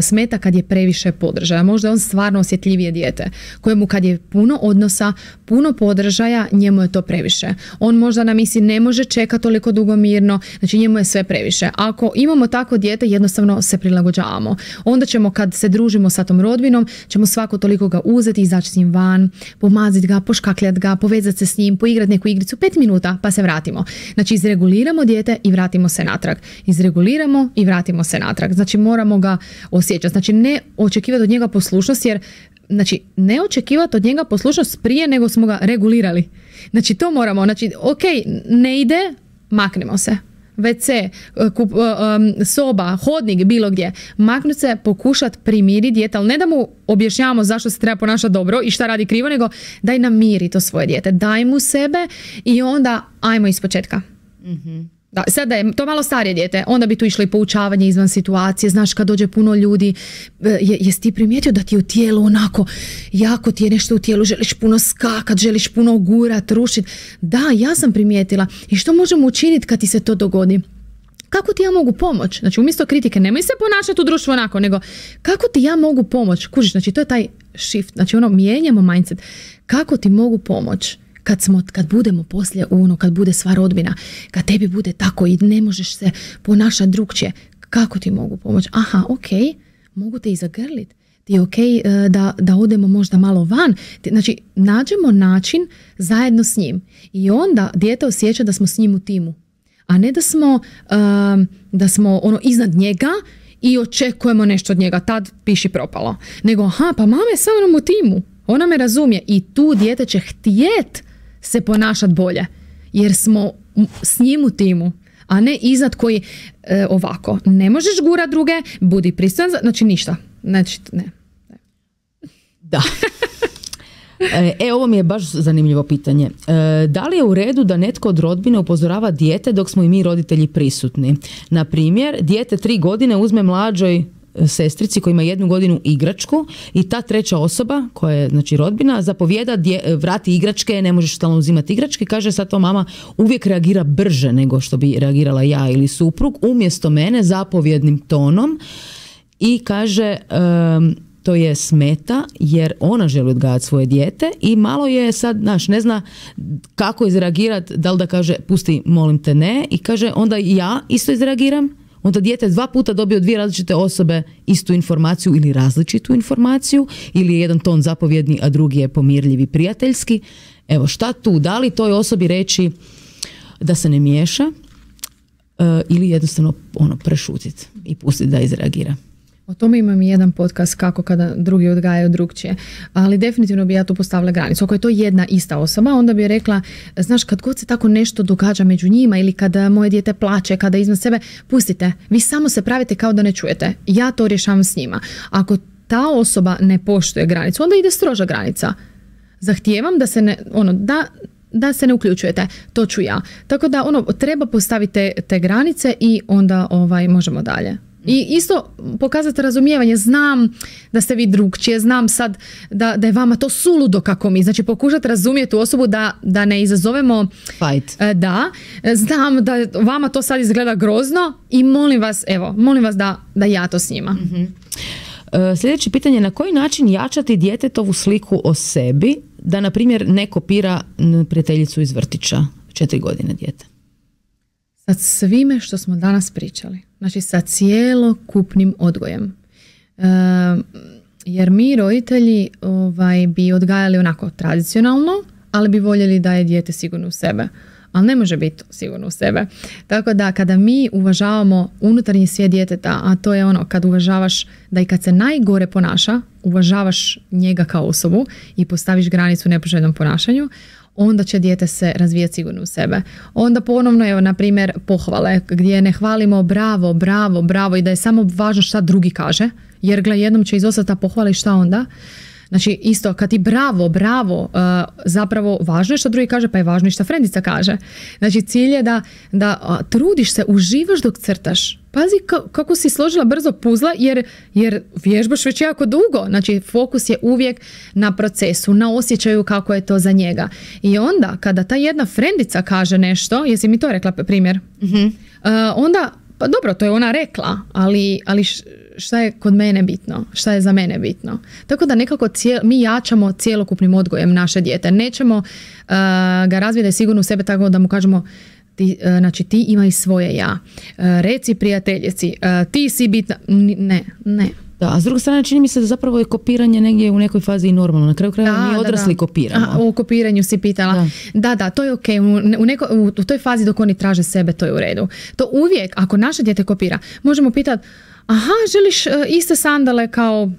smeta kad je previše podržaja. Možda je on stvarno osjetljivije dijete kojemu kad je puno odnosa, puno podržaja, njemu je to previše. On možda na misi ne može čekati toliko dugo mirno, znači njemu je sve previše. Ako imamo tako dijete, jednostavno se prilagođavamo. Onda ćemo kad se družimo sa tom rodbinom, ćemo svako toliko ga uzeti, izaći s njim van, pomaziti ga, poškakljati ga, povezati se s njim, poigrati neku igricu 5 minuta pa se vratimo. Znači izreguliramo dijete i vratimo se natrag. Izreguliramo i vratimo se natrag. Znači moramo ga osjećati. Znači ne očekivati od njega poslušnost jer znači, ne očekivati od njega poslušnost prije nego smo ga regulirali. Znači, to moramo. Znači, ok, ne ide, maknemo se. WC, soba, hodnik, bilo gdje. Maknuti se, pokušati primiriti dijete, ali ne da mu objašnjavamo zašto se treba ponašati dobro i šta radi krivo, nego daj namiri to svoje dijete. Daj mu sebe i onda ajmo ispočetka. Da, sad da je to malo starije dijete, onda bi tu išlo i poučavanje izvan situacije. Znaš, kad dođe puno ljudi, jesi ti primijetio da ti je u tijelu onako, jako ti je nešto u tijelu, želiš puno skakat, želiš puno gurat, rušit. Da, ja sam primijetila. I što možemo učiniti kad ti se to dogodi? Kako ti ja mogu pomoći? Znači, umjesto kritike, nemoj se ponašati u društvu onako, nego kako ti ja mogu pomoći? Kužiš, znači, to je taj shift. Znači, mijenjamo mindset. Kako ti mogu pomoći? Kad budemo poslije kad bude sva rodbina, kad tebi bude tako i ne možeš se ponašati drukčije, kako ti mogu pomoći? Aha, ok, mogu te i zagrlit. Ti je ok da odemo možda malo van. Znači, nađemo način zajedno s njim. I onda dijete osjeća da smo s njim u timu. A ne da smo iznad njega i očekujemo nešto od njega. Tad piši propalo. Nego, pa mama je sa mnom u timu. Ona me razumije. I tu dijete će htjet se ponašati bolje, jer smo s njim u timu, a ne iznad koji ovako. Ne možeš gurat druge, budi pristojan, znači ništa. Znači, ne. Da. Ovo mi je baš zanimljivo pitanje. Da li je u redu da netko od rodbine upozorava dijete dok smo i mi roditelji prisutni? Na primjer, dijete 3 godine uzme mlađoj sestrici koja ima 1 godinu igračku i ta treća osoba koja je znači rodbina zapovijeda vrati igračke, ne možeš stalno uzimati igračke, kaže sad to mama uvijek reagira brže nego što bi reagirala ja ili suprug, umjesto mene zapovjednim tonom i kaže to je smeta jer ona želi odgajati svoje dijete i malo je sad, ne zna kako izreagirati, da li da kaže pusti molim te ne i kaže onda ja isto izreagiram. Onda dijete 2 puta dobije od 2 različite osobe istu informaciju ili različitu informaciju ili je jedan ton zapovjedni, a drugi je pomirljiv i prijateljski. Evo, šta tu? Da li toj osobi reći da se ne miješa ili jednostavno prešutiti i pustiti da izreagira? O tome imam i jedan podcast kako kada drugi odgajaju drugčije, ali definitivno bi ja tu postavila granicu. Ako je to jedna ista osoba, onda bi rekla, znaš, kad god se tako nešto događa među njima ili kada moje dijete plače, kada iznad sebe, pustite, vi samo se pravite kao da ne čujete. Ja to rješavam s njima. Ako ta osoba ne poštuje granicu, onda ide stroža granica. Zahtijevam da se ne, da se ne uključujete, to ću ja. Tako da treba postaviti te granice i onda možemo dalje. I isto pokazati razumijevanje, znam da ste vi drugčije, znam sad da je vama to suludo kako mi, znači pokušati razumjeti u osobu da ne izazovemo fight. Da, znam da vama to sad izgleda grozno i molim vas da ja to s njima. Mm-hmm. Sljedeće pitanje, na koji način jačati djetetovu sliku o sebi da, na primjer, ne kopira prijateljicu iz vrtića, 4 godine dijete? Sa svime što smo danas pričali. Znači sa cijelokupnim odgojem. Jer mi roditelji bi odgajali onako tradicionalno, ali bi voljeli da je dijete sigurno u sebe. Ali ne može biti sigurno u sebe. Tako da kada mi uvažavamo unutarnji svijet djeteta, a to je kad uvažavaš da i kad se najgore ponaša, uvažavaš njega kao osobu i postaviš granicu nepoželjnom ponašanju, onda će dijete se razvijati sigurno u sebe. Onda ponovno, na primjer, pohvale, gdje ne hvalimo bravo, bravo, bravo i da je samo važno šta drugi kaže, jer jednom će izostati ta pohvala i šta onda? Znači isto, kad ti bravo, bravo, zapravo važno je što drugi kaže, pa je važno i što frendica kaže. Znači cilj je da trudiš se, uživaš dok crtaš. Pazi kako si složila brzo puzla jer vježbaš već jako dugo. Znači fokus je uvijek na procesu, na osjećaju kako je to za njega. I onda kada ta jedna frendica kaže nešto, jesi mi to rekla primjer? Mm-hmm. Onda, pa dobro, to je ona rekla, ali šta je kod mene bitno, šta je za mene bitno. Tako da nekako mi jačamo cjelokupnim odgojem naše dijete. Nećemo ga razvijeti sigurno u sebe tako da mu kažemo ti imaj svoje ja. Reci prijateljici, ti si bitna. Ne. Da, a s druge strane čini mi se da zapravo je kopiranje negdje u nekoj fazi i normalno. Na kraju krajeva mi odrasli kopiramo. O kopiranju si pitala. Da, to je ok. U toj fazi dok oni traže sebe, to je u redu. To uvijek, ako naše dijete kopira, možemo pitati, aha, želiš iste sandale kao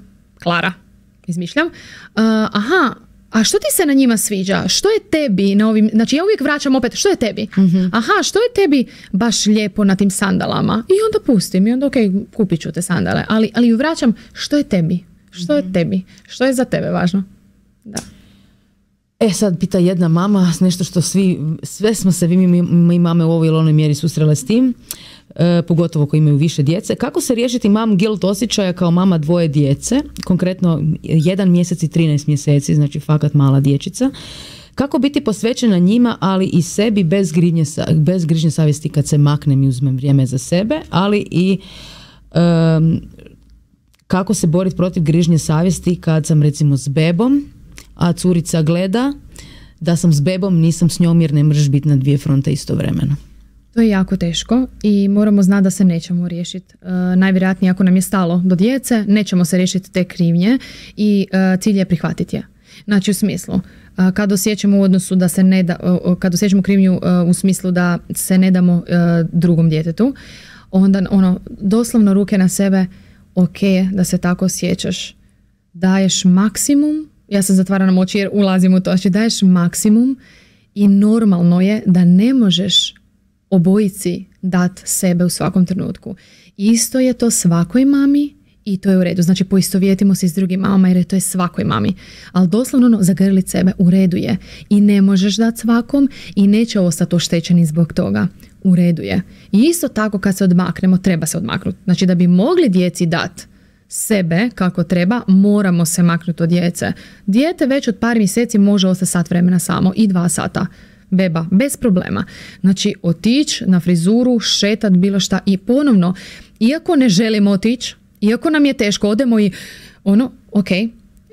Klara? Izmišljam. A što ti se na njima sviđa? Što je tebi na ovim... Znači ja uvijek vraćam opet, što je tebi? Mm-hmm. Aha, što je tebi baš lijepo na tim sandalama? I onda pustim i onda kupit ću te sandale. Ali ju vraćam, što je tebi? Što je tebi? Što je za tebe važno? Da. Sad pita jedna mama, nešto što sve smo se mi mame u ovoj ili onoj mjeri susrele s tim, pogotovo koji imaju više djece. Kako se riješiti mom guilt osjećaja kao mama 2 djece, konkretno 1 mjesec i 13 mjeseci, znači fakat mala dječica. Kako biti posvećena njima, ali i sebi bez grižnje savjesti kad se maknem i uzmem vrijeme za sebe, ali i kako se boriti protiv grižnje savjesti kad sam recimo s bebom, a curica gleda da sam s bebom, nisam s njom jer ne možeš biti na 2 fronte istovremeno. To je jako teško i moramo znati da se nećemo riješiti. Najvjerojatnije ako nam je stalo do djece, nećemo se riješiti te krivnje i cilj je prihvatiti je. Znači u smislu, kad osjećamo u odnosu da se ne da, kad osjećamo krivnju u smislu da se ne damo drugom djetetu, onda doslovno ruke na sebe, ok, da se tako osjećaš, daješ maksimum, ja sam zatvarana oči jer ulazim u to, znači daješ maksimum i normalno je da ne možeš obojici dat sebe u svakom trenutku. Isto je to svakoj mami i to je u redu. Znači poistovjetimo se s drugim mamama jer to je svakoj mami. Ali doslovno zagrlit sebe u redu je. I ne možeš dati svakom i neće ostati oštećeni zbog toga. U redu je. I isto tako kad se odmaknemo, treba se odmaknuti. Znači da bi mogli djeci dati sebe kako treba, moramo se maknuti od djece. Dijete već od par mjeseci može ostati sat vremena samo i 2 sata. Beba, bez problema. Znači, otići na frizuru, šetat, bilo šta i ponovno, iako ne želimo otići, iako nam je teško, odemo i ok,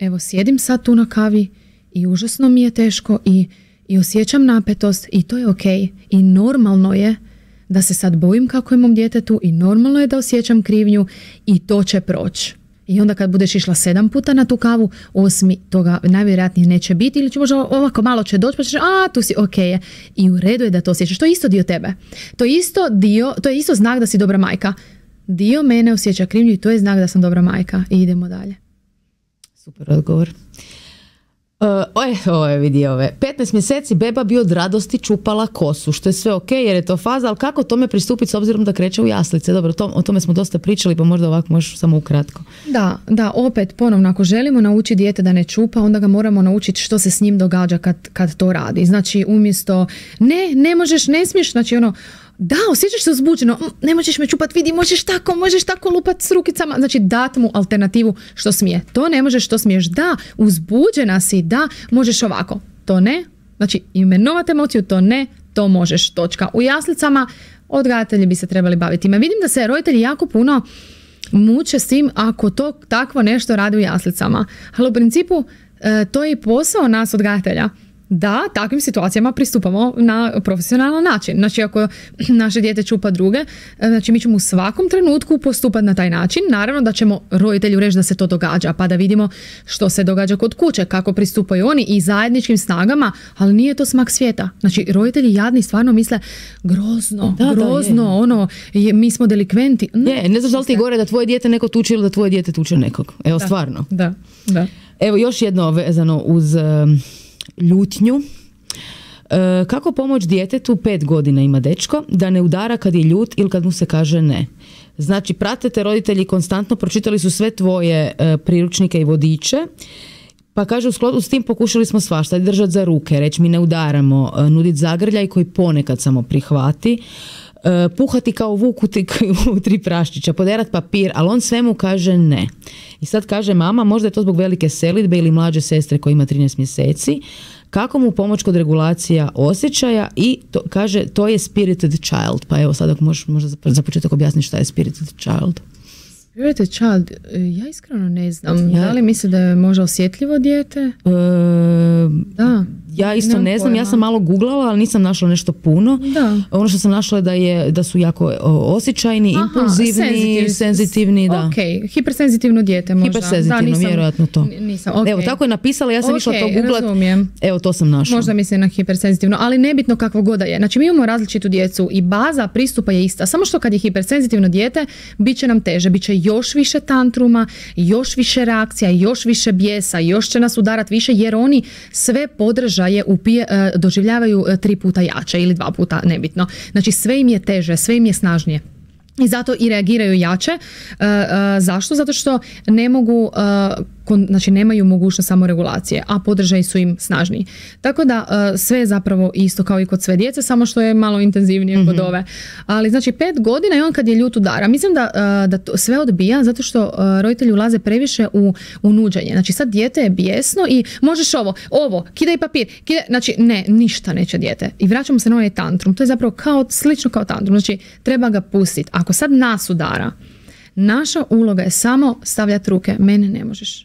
evo sjedim sad tu na kavi i užasno mi je teško i osjećam napetost i to je ok. I normalno je da se sad bojim kako je mom djetetu i normalno je da osjećam krivnju i to će proći. I onda kad budeš išla 7 puta na tu kavu, 8 toga najvjerojatnije neće biti ili će možda ovako malo će doći pa ćeš, tu si ok. I u redu je da to osjećaš. To je isto dio tebe. To je isto znak da si dobra majka. dio mene osjeća krivnju i to je znak da sam dobra majka i idemo dalje. Super odgovor. Vidi ove. 15 mjeseci beba bi od radosti čupala kosu, što je sve ok jer je to faza, ali kako tome pristupiti s obzirom da kreće u jaslice? Dobro, o tome smo dosta pričali, pa možda ovako možeš samo ukratko. Da, opet ponovno, ako želimo naučiti dijete da ne čupa, onda ga moramo naučiti što se s njim događa kad to radi. Znači, umjesto ne možeš, ne smiješ, znači da, osjećaš se uzbuđeno, ne možeš me čupat, vidi, možeš tako lupat s rukicama, znači dat mu alternativu što smije. To ne možeš, što smiješ, da, uzbuđena si, da, možeš ovako, to ne, znači imenovati emociju, to ne, to možeš, točka. U jaslicama odgajatelji bi se trebali baviti. Vidim da se roditelji jako puno muče s tim ako to takvo nešto radi u jaslicama, ali u principu to je i posao nas odgajatelja. Da, takvim situacijama pristupamo na profesionalan način. Znači, ako naše dijete čupa druge, znači mi ćemo u svakom trenutku postupati na taj način. Naravno da ćemo roditelju reći da se to događa, pa da vidimo što se događa kod kuće, kako pristupaju oni i zajedničkim snagama, ali nije to smak svijeta. Znači, roditelji jadni stvarno misle grozno, mi smo delikventi. Ne znaš da li ti gore da tvoje dijete neko tuče ili da tvoje dijete tuče nekog. Evo, stvarno. Da. Evo, još jedno vezano uz ljutnju. Kako pomoći djetetu, 5 godina ima dečko, da ne udara kad je ljut ili kad mu se kaže ne? Znači, pratite roditelji konstantno, pročitali su sve tvoje priručnike i vodiče, pa kaže u skladu s tim pokušali smo svašta, držati za ruke, reći mi ne udaramo, nuditi zagrljaj koji ponekad samo prihvati, puhati kao vuk u 3 praščića, poderat papir, ali on svemu kaže ne. I sad kaže mama, možda je to zbog velike selidbe ili mlađe sestre koja ima 13 mjeseci, kako mu pomoći kod regulacija osjećaja i kaže to je spirited child. Pa evo sad ako možeš možda za početak objasniti šta je spirited child. Spirited child, ja iskreno ne znam. Da li misli da je možda osjetljivo dijete? Da. Ja isto ne znam, ja sam malo googlala, ali nisam našla nešto puno. Da. Ono što sam našla je da su jako osjećajni, impulzivni, senzitivni. Da. Ok, hipersenzitivno dijete možda. Hipersenzitivno, vjerojatno to. Nisam, evo, tako je napisala, ja sam išla to googlat. Razumijem. Evo, to sam našla. Možda mislim na hipersenzitivno, ali nebitno kakvo god da je. Znači, mi imamo različitu djecu i baza pristupa je ista. Samo što kad je hipersenzitivno dijete, bit će nam teže, bit će još više tantruma, još više reakcija, još više bijesa, još će nas udarati više, jer oni sve podržaje doživljavaju 3 puta jače ili 2 puta, nebitno. Znači sve im je teže, sve im je snažnije. I zato i reagiraju jače. Zašto? Zato što ne mogu, znači nemaju mogućnost samoregulacije, a podržaji su im snažniji. Tako da sve je zapravo isto kao i kod sve djece, samo što je malo intenzivnije kod ove. Ali znači 5 godina i on kad je ljut udara. Mislim da to sve odbija zato što roditelji ulaze previše u nuđenje. Znači sad dijete je bijesno i možeš ovo, kidaj papir, znači ne, ništa neće dijete. I vraćamo se na ovaj tantrum. To je zapravo slično kao tantrum. Znači treba ga pustiti. Ako sad nas udara, naša uloga je samo stavljati ruke. Mene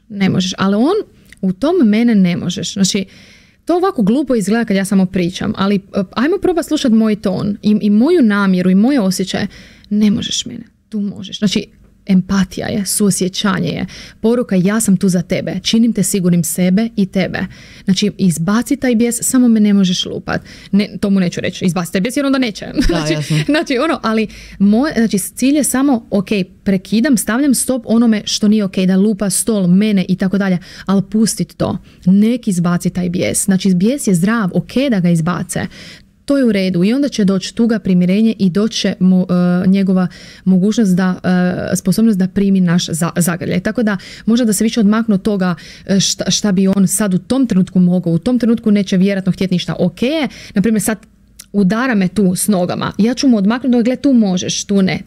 ne možeš. Ali on u tom mene ne možeš. Znači, to ovako glupo izgleda kad ja samo pričam, ali ajmo probati slušati moj ton i moju namjeru i moje osjećaje. Ne možeš mene, tu možeš. Znači, empatija je, suosjećanje je, poruka ja sam tu za tebe, činim te sigurnim sebe i tebe. Znači, izbaci taj bijes, samo me ne možeš lupat. To mu neću reći, izbaci taj bijes jer onda neće. Ali cilj je samo, ok, prekidam, stavljam stop onome što nije ok, da lupa stol, mene i tako dalje, ali pustit to. Nek izbaci taj bijes. Znači, bijes je zdrav, ok da ga izbace. To je u redu i onda će doći tuga, primirenje i doći njegova mogućnost sposobnost da primi naš zagrljaj. Tako da možda da se više odmaknu od toga šta bi on sad u tom trenutku mogao. U tom trenutku neće vjerojatno htjeti ništa. Ok, naprimjer sad udara me tu s nogama. Ja ću mu odmaknuti, gle tu možeš, tu ne.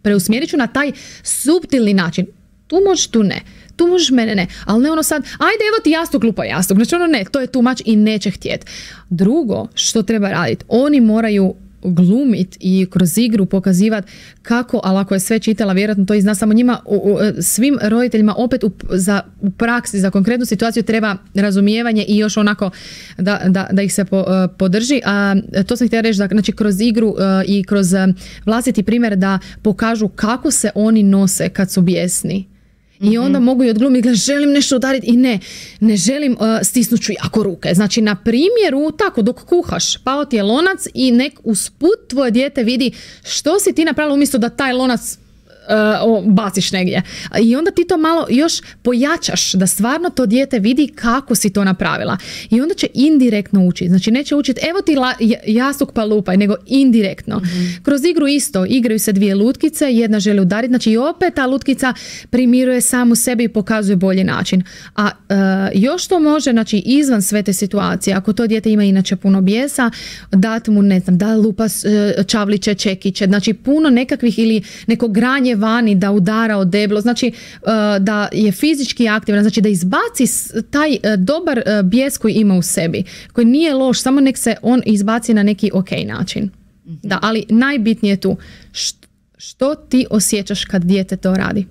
Preusmjerit ću na taj suptilni način. Tu možeš, tu ne. Tu možeš, mene ne. Ali ne ono sad, ajde evo ti jastuk, lupa jastuk. Znači ono ne, to je too much i neće htjeti. Drugo što treba raditi, oni moraju glumiti i kroz igru pokazivati kako, ali ako je sve čitala, vjerojatno to i zna samo njima, svim roditeljima opet u praksi za konkretnu situaciju treba razumijevanje i još onako da ih se podrži. A to sam htjela reći, da znači kroz igru i kroz vlastiti primjer da pokažu kako se oni nose kad su bijesni. I onda mogu i odglumiti, želim nešto udariti i ne želim, stisnut ću jako ruke. Znači na primjeru, tako dok kuhaš, pao ti je lonac i nek usput tvoje dijete vidi što si ti napravila umjesto da taj lonac baciš negdje. I onda ti to malo još pojačaš da stvarno to dijete vidi kako si to napravila. I onda će indirektno učiti. Znači neće učiti evo ti jastuk pa lupaj, nego indirektno. Kroz igru isto, igraju se dvije lutkice, jedna želi udariti, znači i opet ta lutkica primiruje samu sebi i pokazuje bolji način. A još to može, znači izvan sve te situacije, ako to dijete ima inače puno bijesa, dati mu, ne znam, da lupa čavliće, čekiće, znači puno nekakvih ili neko granje vani, da udara od deblo, znači da je fizički aktivan, znači da izbaci taj dobar bijes koji ima u sebi, koji nije loš, samo nek se on izbaci na neki ok način. Da, ali najbitnije je tu što ti osjećaš kad dijete to radi.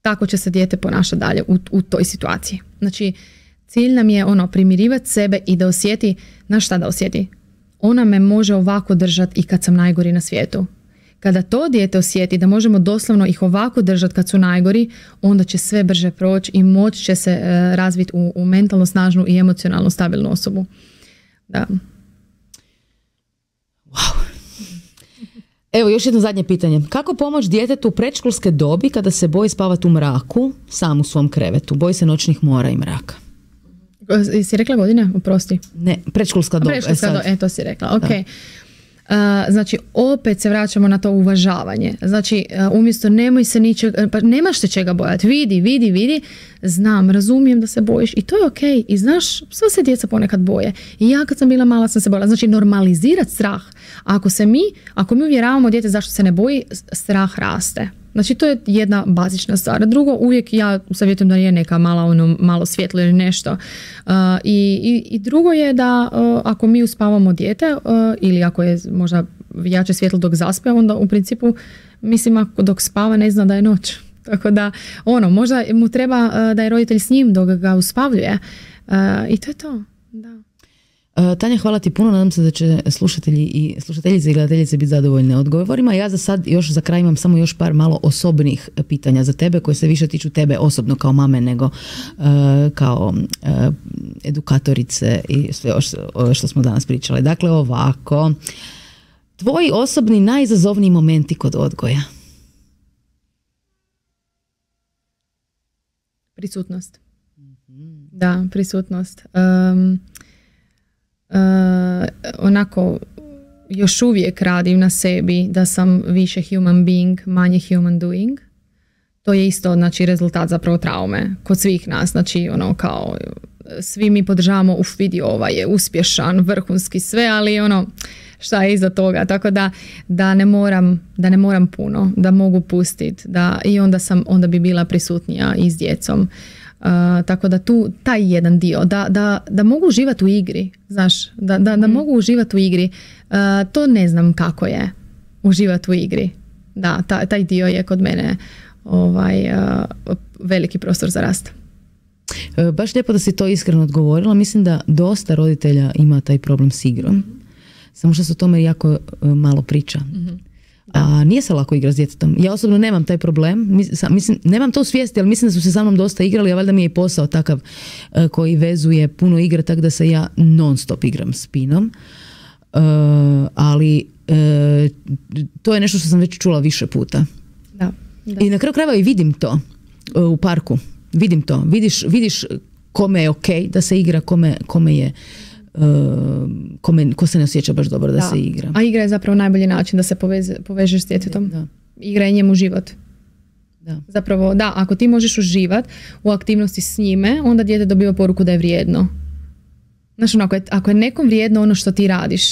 Tako će se dijete ponašati dalje u toj situaciji. Znači, cilj nam je primirivati sebe i da osjeti, znaš šta da osjeti? Ona me može ovako držati i kad sam najgori na svijetu. Kada to dijete osjeti da možemo doslovno ih ovako držati kad su najgori, onda će sve brže proći i moć će se razviti u mentalno snažnu i emocionalno stabilnu osobu. Da. Wow. Evo još jedno zadnje pitanje. Kako pomoći djetetu u predškolske dobi kada se boji spavati u mraku, sam u svom krevetu? Boji se noćnih mora i mraka. Si rekla godine? Oprosti. Ne, predškolska doba. To si rekla, ok. Znači, opet se vraćamo na to uvažavanje. Znači, umjesto nemoj se ničega, pa nemaš se čega bojati. Vidi. Znam, razumijem da se bojiš i to je ok. I znaš, sva se djeca ponekad boje. I ja kad sam bila mala sam se bojala. Znači, normalizirati strah. Ako mi uvjeravamo dijete zašto se ne boji, strah raste. Znači, to je jedna bazična stvar. Drugo, uvijek ja savjetujem da je neka malo svjetlo ili nešto. I drugo je da ako mi uspavamo dijete ili ako je možda jače svjetlo dok zaspe, onda u principu mislim ako dok spava ne zna da je noć. Tako da možda mu treba da je roditelj s njim dok ga uspavljuje. I to je to. Da. Tanja, hvala ti puno, nadam se da će slušatelji i slušateljice i gledateljice biti zadovoljne odgovorima. Ja za sad još za kraj imam samo još par malo osobnih pitanja za tebe koje se više tiču tebe osobno kao mame nego kao edukatorice i sve što smo danas pričali. Dakle, ovako, tvoji osobni najizazovniji momenti kod odgoja? Prisutnost. Da, prisutnost. Onako još uvijek radim na sebi da sam više human being, manje human doing. To je isto, znači, rezultat zapravo traume kod svih nas. Znači, kao svi mi podržavamo, vidi, ovaj je uspješan, vrhunski, sve, ali šta je iza toga, tako da ne moram puno, da mogu pustiti, i onda bi bila prisutnija i s djecom. Tako da tu taj jedan dio da mogu uživati u igri, znaš, da mogu uživati u igri, to ne znam kako je uživati u igri. Da, taj dio je kod mene veliki prostor za rast. Baš lijepo da si to iskreno odgovorila. Mislim da dosta roditelja ima taj problem s igrom. Samo što se o tome jako malo priča. A nije se lako igrati s djetetom. Ja osobno nemam taj problem. Mislim, nemam to u svijesti, ali mislim da su se sa mnom dosta igrali, a valjda mi je i posao takav koji vezuje puno igre, tako da se ja non stop igram s Pinom. Ali to je nešto što sam već čula više puta. Da. I na kraju krajeva i vidim to u parku. Vidim to. Vidiš kome je ok da se igra, kome je ko se ne osjeća baš dobro da se igra. A igra je zapravo najbolji način da se povežeš s djetetom. Da. Igra je njemu život. Da. Zapravo, ako ti možeš uživati u aktivnosti s njime, onda dijete dobiva poruku da je vrijedno. Znaš, ako je nekom vrijedno ono što ti radiš,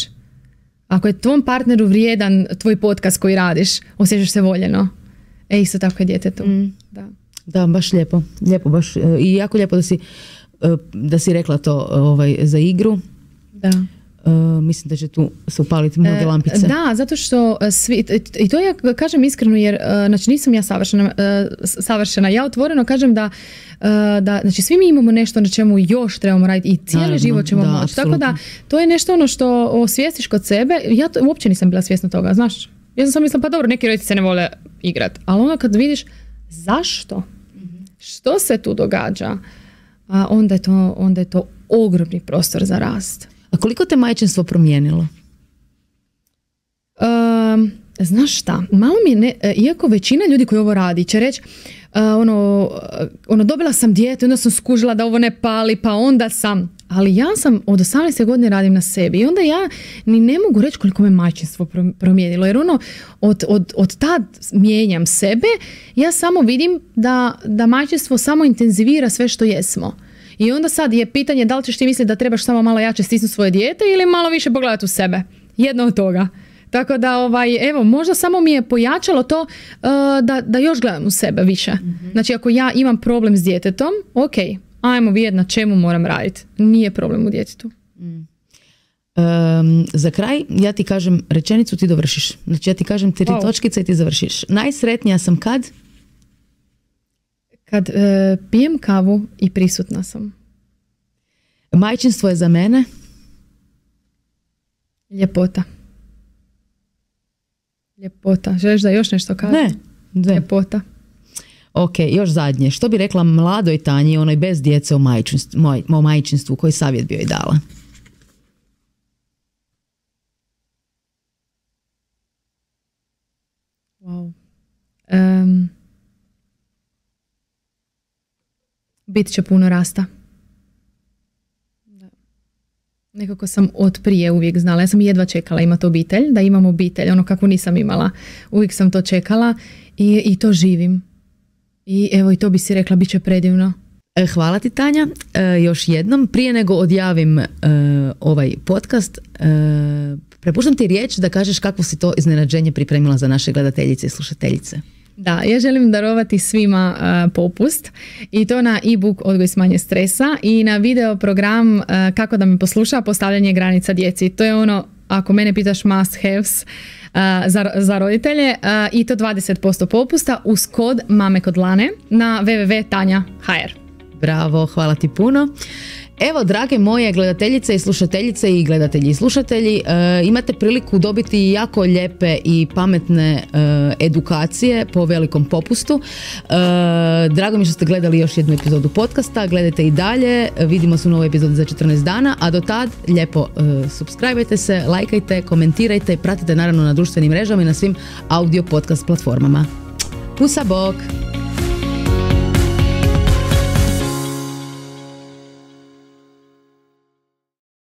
ako je tvom partneru vrijedan tvoj podcast koji radiš, osjećaš se voljeno. Isto tako je djetetu. Da, baš lijepo. Lijepo baš. I jako lijepo da si rekla to za igru. Da. Mislim da će tu se upaliti mnoge lampice. Da, zato što svi, i to ja kažem iskreno, jer znači nisam ja savršena. Ja otvoreno kažem da znači svi mi imamo nešto na čemu još trebamo raditi i cijeli život ćemo moći. Tako da to je nešto što osvijestiš kod sebe. Ja uopće nisam bila svjesna toga, znaš. Ja sam mislila, pa dobro, neki roditelji se ne vole igrati. Ali kad vidiš zašto, što se tu događa, onda je to ogromni prostor za rast. A koliko te majčinstvo promijenilo? znaš šta, malo mi je, iako većina ljudi koji ovo radi će reći, dobila sam dijete, onda sam skužila da ovo ne pali, pa onda sam, ali ja sam od 18. godine radim na sebi i onda ja ni ne mogu reći koliko me majčinstvo promijenilo, jer od tad mijenjam sebe, ja samo vidim da majčinstvo samo intenzivira sve što jesmo. I onda sad je pitanje da li ćeš ti misliti da trebaš samo malo jače stisnuti svoje dijete ili malo više pogledati u sebe. Jedno od toga. Tako da, evo, možda samo mi je pojačalo to da još gledam u sebe više. Mm-hmm. Znači, ako ja imam problem s djetetom, ok, ajmo vidjeti na čemu moram raditi. Nije problem u djetetu. Za kraj, ja ti kažem rečenicu, ti dovršiš. Znači, ja ti kažem 3 točkice i ti završiš. Najsretnija sam kad? Kad pijem kavu i prisutna sam. Majčinstvo je za mene? Ljepota. Ljepota. Želiš da još nešto kažem? Ne. Ljepota. Ok, još zadnje. Što bi rekla mladoj Tanji, onoj bez djece o majčinstvu, koji savjet bi joj dala? Wow. Bit će puno rasta. Nekako sam od prije uvijek znala. Ja sam jedva čekala imati obitelj, da imam obitelj, ono kako nisam imala. Uvijek sam to čekala i to živim. I evo, i to bi si rekla, bit će predivno. Hvala ti, Tanja. Još jednom, prije nego odjavim ovaj podcast, prepuštam ti riječ da kažeš kakvo si to iznenađenje pripremila za naše gledateljice i slušateljice. Da, ja želim darovati svima popust i to na e-book Odgoj s manje stresa i na video program Kako da me posluša, postavljanje granica djeci. To je ono, ako mene pitaš, must haves za roditelje i to 20% popusta uz kod Mame kod Lane na www.tanja.hr. Bravo, hvala ti puno. Evo, drage moje gledateljice i slušateljice i gledatelji i slušatelji, imate priliku dobiti jako lijepe i pametne edukacije po velikom popustu. Drago mi što ste gledali još jednu epizodu podcasta, gledajte i dalje, vidimo se u novoj epizodi za 14 dana, a do tad lijepo subscribe-ajte se, lajkajte, komentirajte i pratite naravno na društvenim mrežama i na svim audio podcast platformama. Pusa, bok!